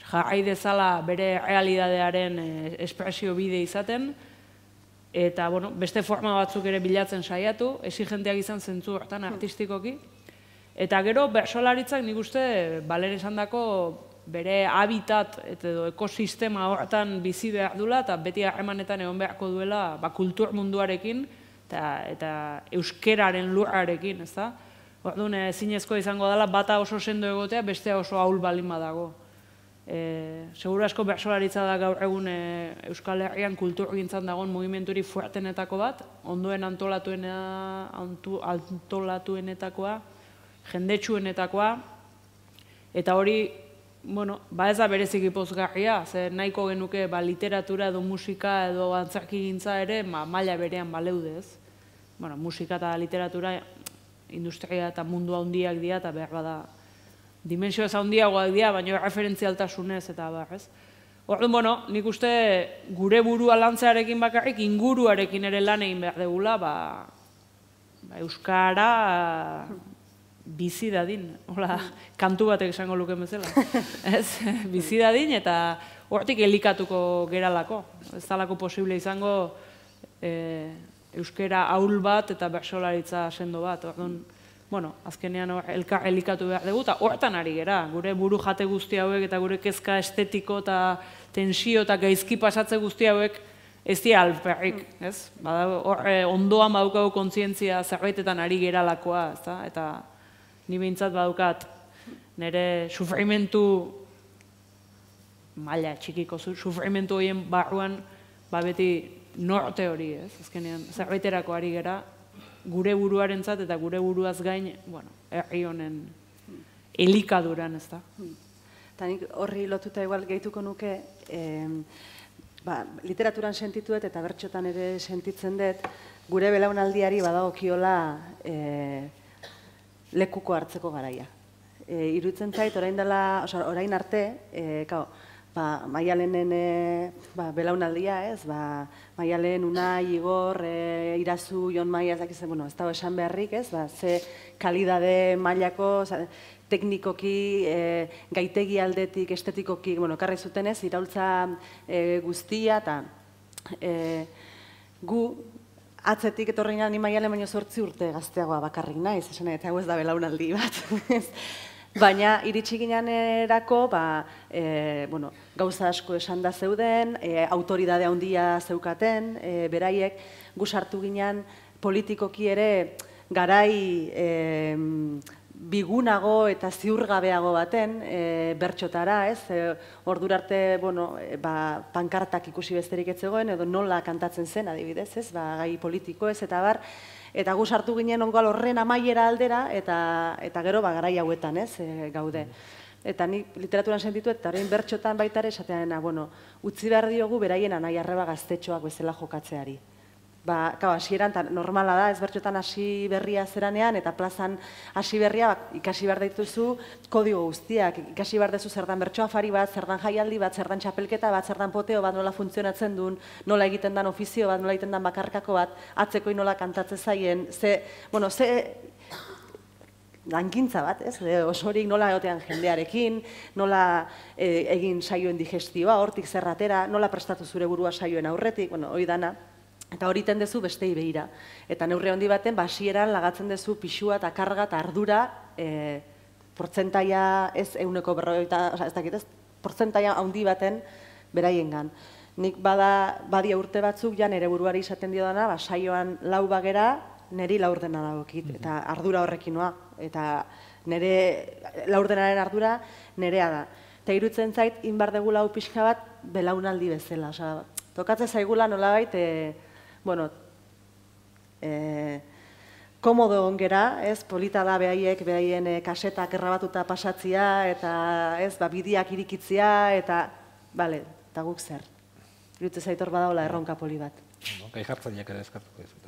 jarrai dezala bere realidadearen espresio bide izaten, eta beste forma batzuk ere bilatzen saiatu, exigenteak izan zentzu hortan artistikoki. Eta gero bertsolaritzak nik uste balen esan dako bere habitat edo ekosistema hortan bizi behar duela, eta beti harremanetan egon beharko duela kultur munduarekin eta euskeraren lurrarekin, ez da? Orduan, ezinezko izango dela bata oso sendo egotea, bestea oso ahul balin badago. Seguru asko bertsolaritza da gaur egun Euskal Herrian kulturgintzan dagoen mugimenturi fuertenetako bat, ondoen antolatuenetakoa, jendetsuenetakoa, eta hori, ez da bereziki pozgarria, ze nahiko genuke literatura edo musika edo antzerkigintza ere maila berean baleude, ez? Musika eta literatura industria eta mundu handiak dira, eta behar bada dimensio ez handiagoak dira, baina referentzialtasunez eta ez? Orduan, nik uste gure burua lantzearekin bakarrik, inguruarekin ere lan egin behar degula, euskara bizi dadin, kantu batek esango luken bezala. Bizi dadin eta hortik elikatuko geralako. Ez dalako posible izango euskara ahul bat eta bertsolaritza sendo bat. Azkenean elkar elikatu behar dugu, eta hortan ari gera. Gure buru jate guzti hauek eta gure kezka estetiko eta tensio eta gaizki pasatze guzti hauek ez dira alperrik, ez? Ondoan badaukagu kontzientzia zerbaitetan ari geralakoa, eta ni behintzat badaukat nire sufrimentu maila txikiko sufrimentu horien barruan beti norte hori, ez? Azkenean zerbaiterako ari gera gure buruarentzat eta gure buruaz gain, herri honen elikaduran, ez da. Eta nik horri lotuta igual gehituko nuke, literaturan sentituet eta bertxotan ere sentitzen dut, gure belaunaldiari badagokiola lekuko hartzeko garaia. Iruditzen zait, orain arte, Maialenen belaunaldia, ez? Maialen, Unai, Igor, Irazu, Jon Maia, ez dago esan beharrik, ez? Ze kalidade mailako, teknikoki, gaitegi aldetik, estetikoki, ekarri zuten ez, iraultza guztia, eta gu atzetik etorri ni Maialen baino 8 urte gazteagoa bakarrik naiz, esan eta hau ez da belaunaldi bat. Baina iritsi ginenerako, gauza asko esan da zeuden, autoridade handia zeukaten, beraiek, gu sartu ginen politikoki ere garai bigunago eta ziurgabeago baten bertxotara, ez? Ordura arte, pankartak ikusi besterik ez zegoen, edo nola kantatzen zen, adibidez, ez? Gai politiko ez, eta bar, eta gu sartu ginen ongoal horren amaiera aldera, eta gero garai hauetan, ez, gaude. Eta nik literaturan sentitu, eta orain bertxotan baita ere esatean, utzi behar diogu beraien anai arreba gaztetxoak bezala jokatzeari. Hasieran, normala da, ez bertxotan hasi berria zeranean, eta plazan hasi berria ikasi behar dituzu kodigo guztiak. Ikasi behar duzu zer dan bertxo afari bat, zer dan jaialdi bat, zer dan txapelketa bat, zer dan poteo bat, nola funtzionatzen duen, nola egiten dan ofizio bat, nola egiten dan bakarkako bat, atzekoi nola kantatzen zaien, ze lankintza bat, ez? Osorik nola egotean jendearekin, nola egin saioen digestioa, hortik zerratera, nola prestatu zure burua saioen aurretik, hori dana. Eta hori iten dezu bestei behira. Eta neurri handi baten, hasieran lagatzen dezu pixua eta karga eta ardura portzentaia ez 140, ez dakit ez, portzentaia handi baten beraiengan. Nik badia urte batzuk ja nire buruari izaten dio dana, saioan lau bagera, niri laurdena dagokit, eta ardura horrekin noa. Eta nire laurdenaren ardura nirea da. Eta irutzen zait, inbar degula hau pixka bat belaunaldi bezala. Tokatzen zaigula nolabait, komodo ongera, ez, polita da behaien kasetak errabatuta pasatzia, eta ez, bidiak irikitzia, eta, eta guk zer. Irutzen zaitor badaola erronka poli bat. Gai jartzaileak ere eskartuko dizut.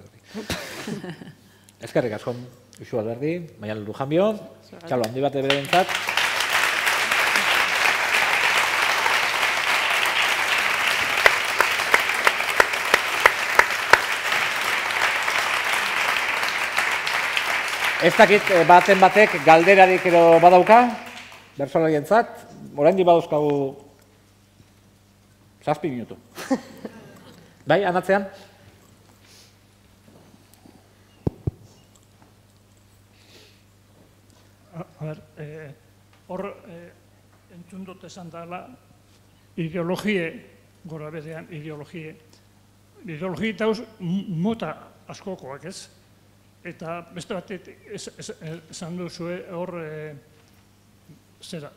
Eskerrik asko, Uxu Alberdi, Maialen Lujanbio, txalo handi bat eberentzat. Ez dakit baten batek galderarik edo badauka, bertsolarientzat, oraindik badauzkagu 7 minutu. Bai, anatzean? Hor entzun dut esan dela ideologie, gora berean ideologie. Ideologie dauz mota askokoak ez. Eta beste batet esan duzue hor zera.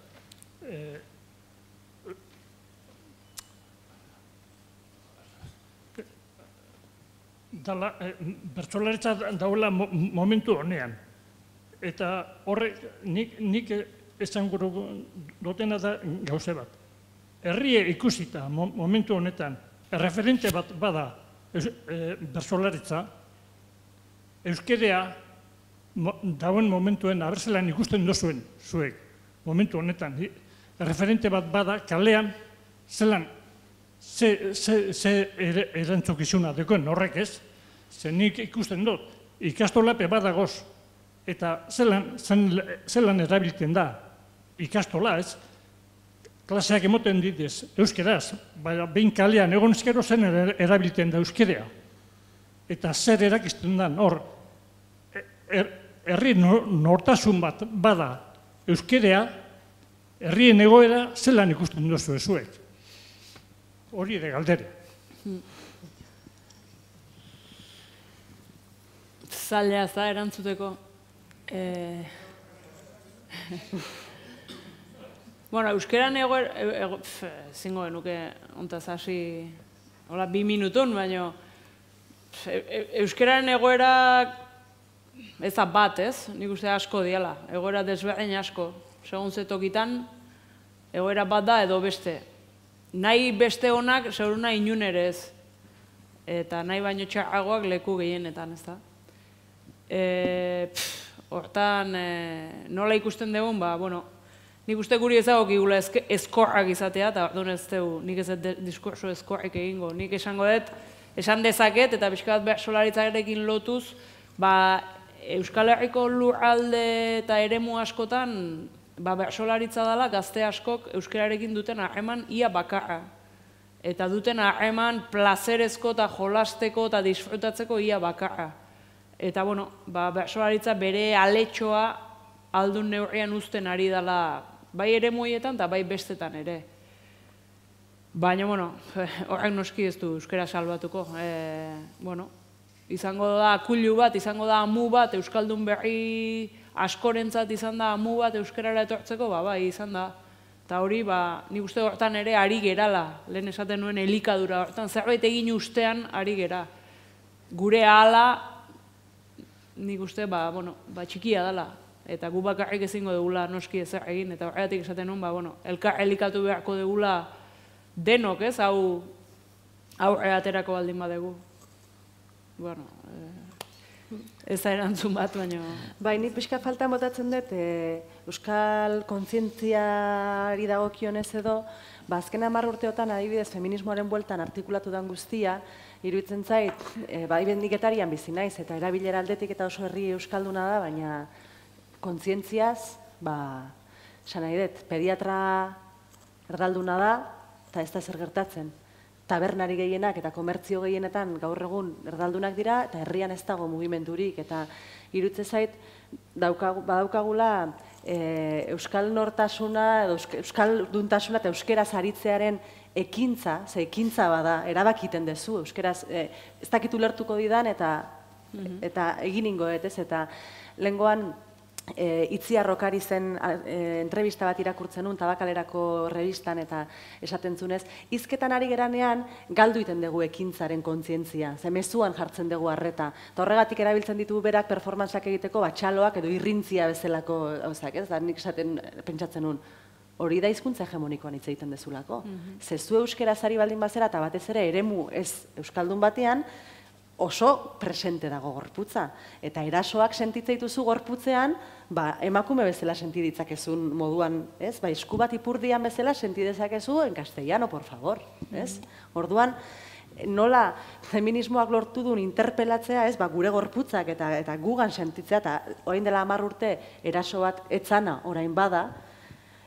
Bertsolaritza daula momentu honean. Eta horrek nik esan guru dutena da gauze bat. Herrie ikusita momentu honetan, referente bat bada bertsolaritza, euskerea dauen momentuen abertzelan ikusten duzuen zuek, momentu honetan. Referente bat bada kalean, zelan, ze erantzukizuna dekoen horrek ez, ze nik ikusten dut, ikastolape badagoz, eta zelan erabiltzen da ikastola ez, klaseak emoten ditez euskeraz, baina behin kalean egon ezkero zen erabiltzen da euskerea. Eta zer erakizten da, hor, herri nortasun bat bada euskerea, herrien egoera zelan ikusten duzu ezuek. Hori ere galdere. Zaila za erantzuteko. Bueno, euskeran zingo genuke ontaz hasi 2 minutun, baina euskeraren egoera ez da bat, ez? Nik uste asko diala, egoera desberdin asko. segun zetokitan, egoera bat da edo beste. Nahi beste honak, seguruna inun ere ez. Eta nahi baino txarragoak leku gehienetan, ez da. Hortan, nola ikusten dugun, bueno, nik uste guri ezagokigula ezkorrak izatea, eta orduan ez dugu, nik ez diskurso ezkorrik egingo. Nik esango dut, esan dezaket, eta pixka bat bertsolaritzarekin lotuz, Euskal Herriko lurralde eta eremu askotan, bertsolaritza dela gazte askok euskararekin duten harreman ia bakarra. Eta duten harreman plazerezko eta jolasteko eta disfrutatzeko ia bakarra. Eta, bertsolaritza bere aletxoa aldun neurrian uzten ari dela bai eremuetan eta bai bestetan ere. Baina, horrek noski ez du euskara salbatuko. Izango da akulu bat, izango da amu bat, euskaldun berri askorentzat izan da amu bat euskarara etortzeko, bai, izan da. Eta hori, nik uste hortan ere ari gerala, lehen esaten nuen elikadura, hortan zerbait egin ustean ari gera. Gure ahala, nik uste, txikia dela, eta gu bakarrik ezingo dugula noski ezer egin, eta horregatik esaten nuen, elkar elikatu beharko dugula denok, ez, hau aurre aterako baldin badegu. Ez da erantzun bat, baina... Bai, nik pixka faltan botatzen dut, euskal kontzientziari dagokionez edo, azken 10 urteotan adibidez feminismoaren bueltan artikulatu den guztia, iruditzen zait, bai niketarian bizi naiz, eta erabilera aldetik eta oso herri euskalduna da, baina kontzientziaz, esan nahi dut, pediatra erdalduna da, eta ez da zer gertatzen. Tabernari gehienak eta komertzio gehienetan gaur egun erdaldunak dira, eta herrian ez dago mugimendurik, eta iruditzen zait, badaukagula euskal nortasuna, euskal duntasuna eta euskeraz aritzearen ekintza, ze ekintza bada, erabakiten dezu, euskeraz, ez dakitu lertuko didan, eta egin ingoet, ez, eta lehengoan, Itziar Rokari zen entrevista bat irakurtzen nun, Tabakalerako revistan eta esaten zunez, hizketan ari geranean galdu iten dugu ekintzaren kontzientzia, ze mezuan jartzen dugu arreta. Eta horregatik erabiltzen ditugu berak performantzak egiteko batxaloak edo irrintzia bezalako gauzak, ez? Da nik esaten pentsatzen nun, hori da hizkuntza hegemonikoan hitz egiten dezulako. Ze zu euskeraz ari baldin bazera eta batez ere eremu ez euskaldun batean, oso presente dago gorputza. Eta erasoak sentitzen dituzu gorputzean, emakume bezala senti ditzakezun moduan, ez? Esku bat ipurdian bezala senti dezakezu en castellano, por favor, ez? Orduan, nola feminismoak lortu duen interpelatzea, ez? Gure gorputzak eta gugan sentitzea, eta orain dela 10 urte eraso bat etzana orain bada,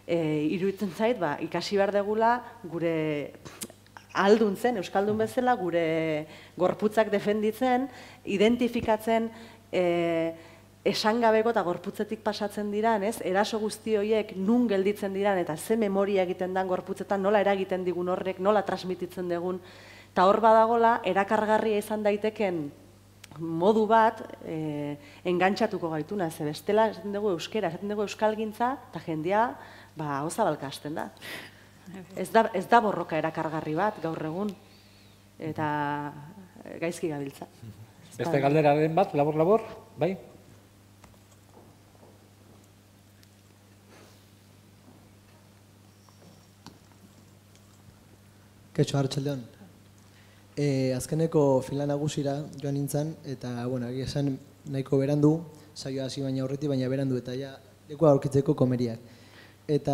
iruditzen zait, ikasi behar degula gure aldun zen, euskaldun bezala, gure gorputzak defenditzen, identifikatzen esangabeko eta gorputzetik pasatzen diran, ez? Eraso guzti horiek nun gelditzen diran eta ze memoria egiten dan gorputzetan, nola eragiten digun horrek, nola transmititzen digun, eta hor badagola, erakargarria izan daiteken modu bat engantxatuko gaituna, ze bestela esaten dugu euskera, esaten dugu euskalgintza, eta jendea, hauza balkasten da. Ez da borroka erakargarri bat gaur egun, eta gaizki gabiltza. Beste galderaren bat, labor, bai? Kaixo, arratsaldeon. Azkeneko fila nagusira joan nintzen, eta, egia esan nahiko berandu, saioa hasi baina aurretik, baina berandu, eta ja lekua aurkitzeko komeriak. Eta,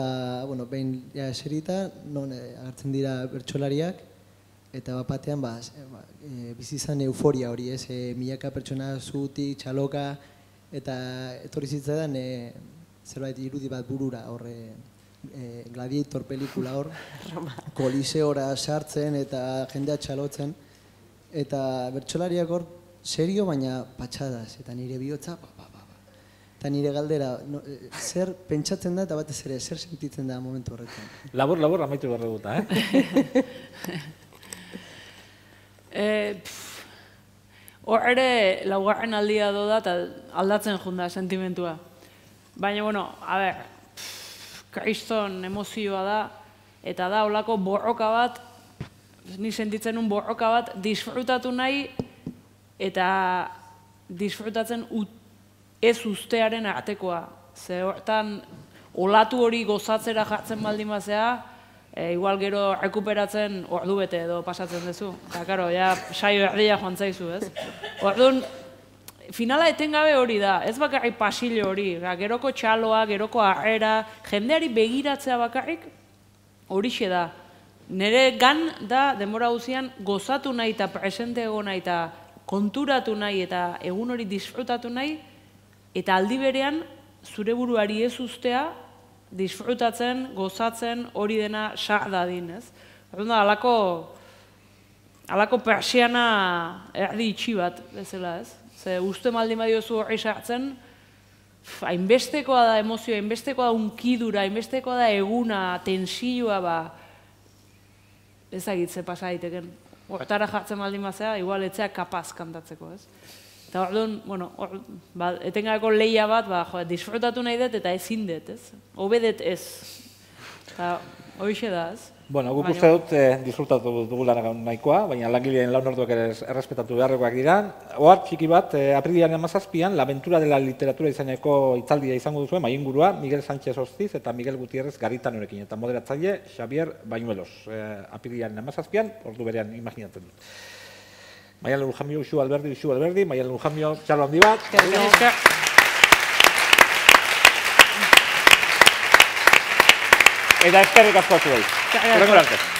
behin eserita, non agertzen dira bertsolariak, eta batean bizi izan euforia hori, ez? Milaka pertsona zutik, txaloka, eta etorri zitzaidan zerbait irudi bat burura, horre Gladiator pelikula hor, koliseora sartzen eta jendea txalotzen, eta bertsolariak hor serio baina patxadas, eta nire bihotza, eta nire galdera, zer pentsatzen da eta batez ere, zer sentitzen da momentu horretan? Labor, amaitu behar duguta, Hor ere, laugarren aldia doda eta aldatzen junda sentimentua. Baina, kriston emozioa da, eta da holako borroka bat, ni sentitzen un borroka bat, disfrutatu nahi, eta disfrutatzen ez ustearen artekoa. Ze olatu hori gozatzera jartzen baldin bazea, igual gero rekuperatzen ordu bete edo pasatzen duzu. Eta, karo, ja, saio erdia joan zaizu, ez? Orduan, finala etengabe hori da, ez bakarrik pasillo hori, geroko txaloa, geroko harrera, jendeari begiratzea bakarrik horixe da. Nere gan da, denbora guzian, gozatu nahi eta presente egon nahi eta konturatu nahi eta egun hori disfrutatu nahi, eta aldi berean zure buruari ez ustea, disfrutatzen, gozatzen, hori dena sar dadin, ez? Orduan da, halako persiana erdi itxi bat, bezala, ez? Ze uste maldin badiozu horri sartzen, hainbestekoa da emozioa, hainbestekoa da unkidura, hainbestekoa da eguna, tensioa, ezagitze pasa daiteken. Hortara jartzen baldin bazea, igual etzea kapaz kantatzeko, ez? Eta orduan, bueno, etengabeko lehia bat, disfrutatu nahi dut eta ezin dut, ez? Hobedet ez. Eta horixe da, ez? Bueno, guk uste dut disfrutatu dugula nahikoa, baina langileen lan orduak ere errespetatu beharrekoak dira. Ohar txiki bat, aprilaren 17an, La aventura de la literatura izeneko hitzaldia izango duzuen, maingurua Miguel Sánchez Hostiz eta Miguel Gutierrez Garitanorekin, eta moderatzaile Xavier Bañuelos. Aprilaren 17an, ordu berean imaginatzen dut. Maialen Lujambio, Uxu Alberdi, Maialen Lujambio, txalo handi bat. Eta eskerrik asko zuei. Horrengo arte.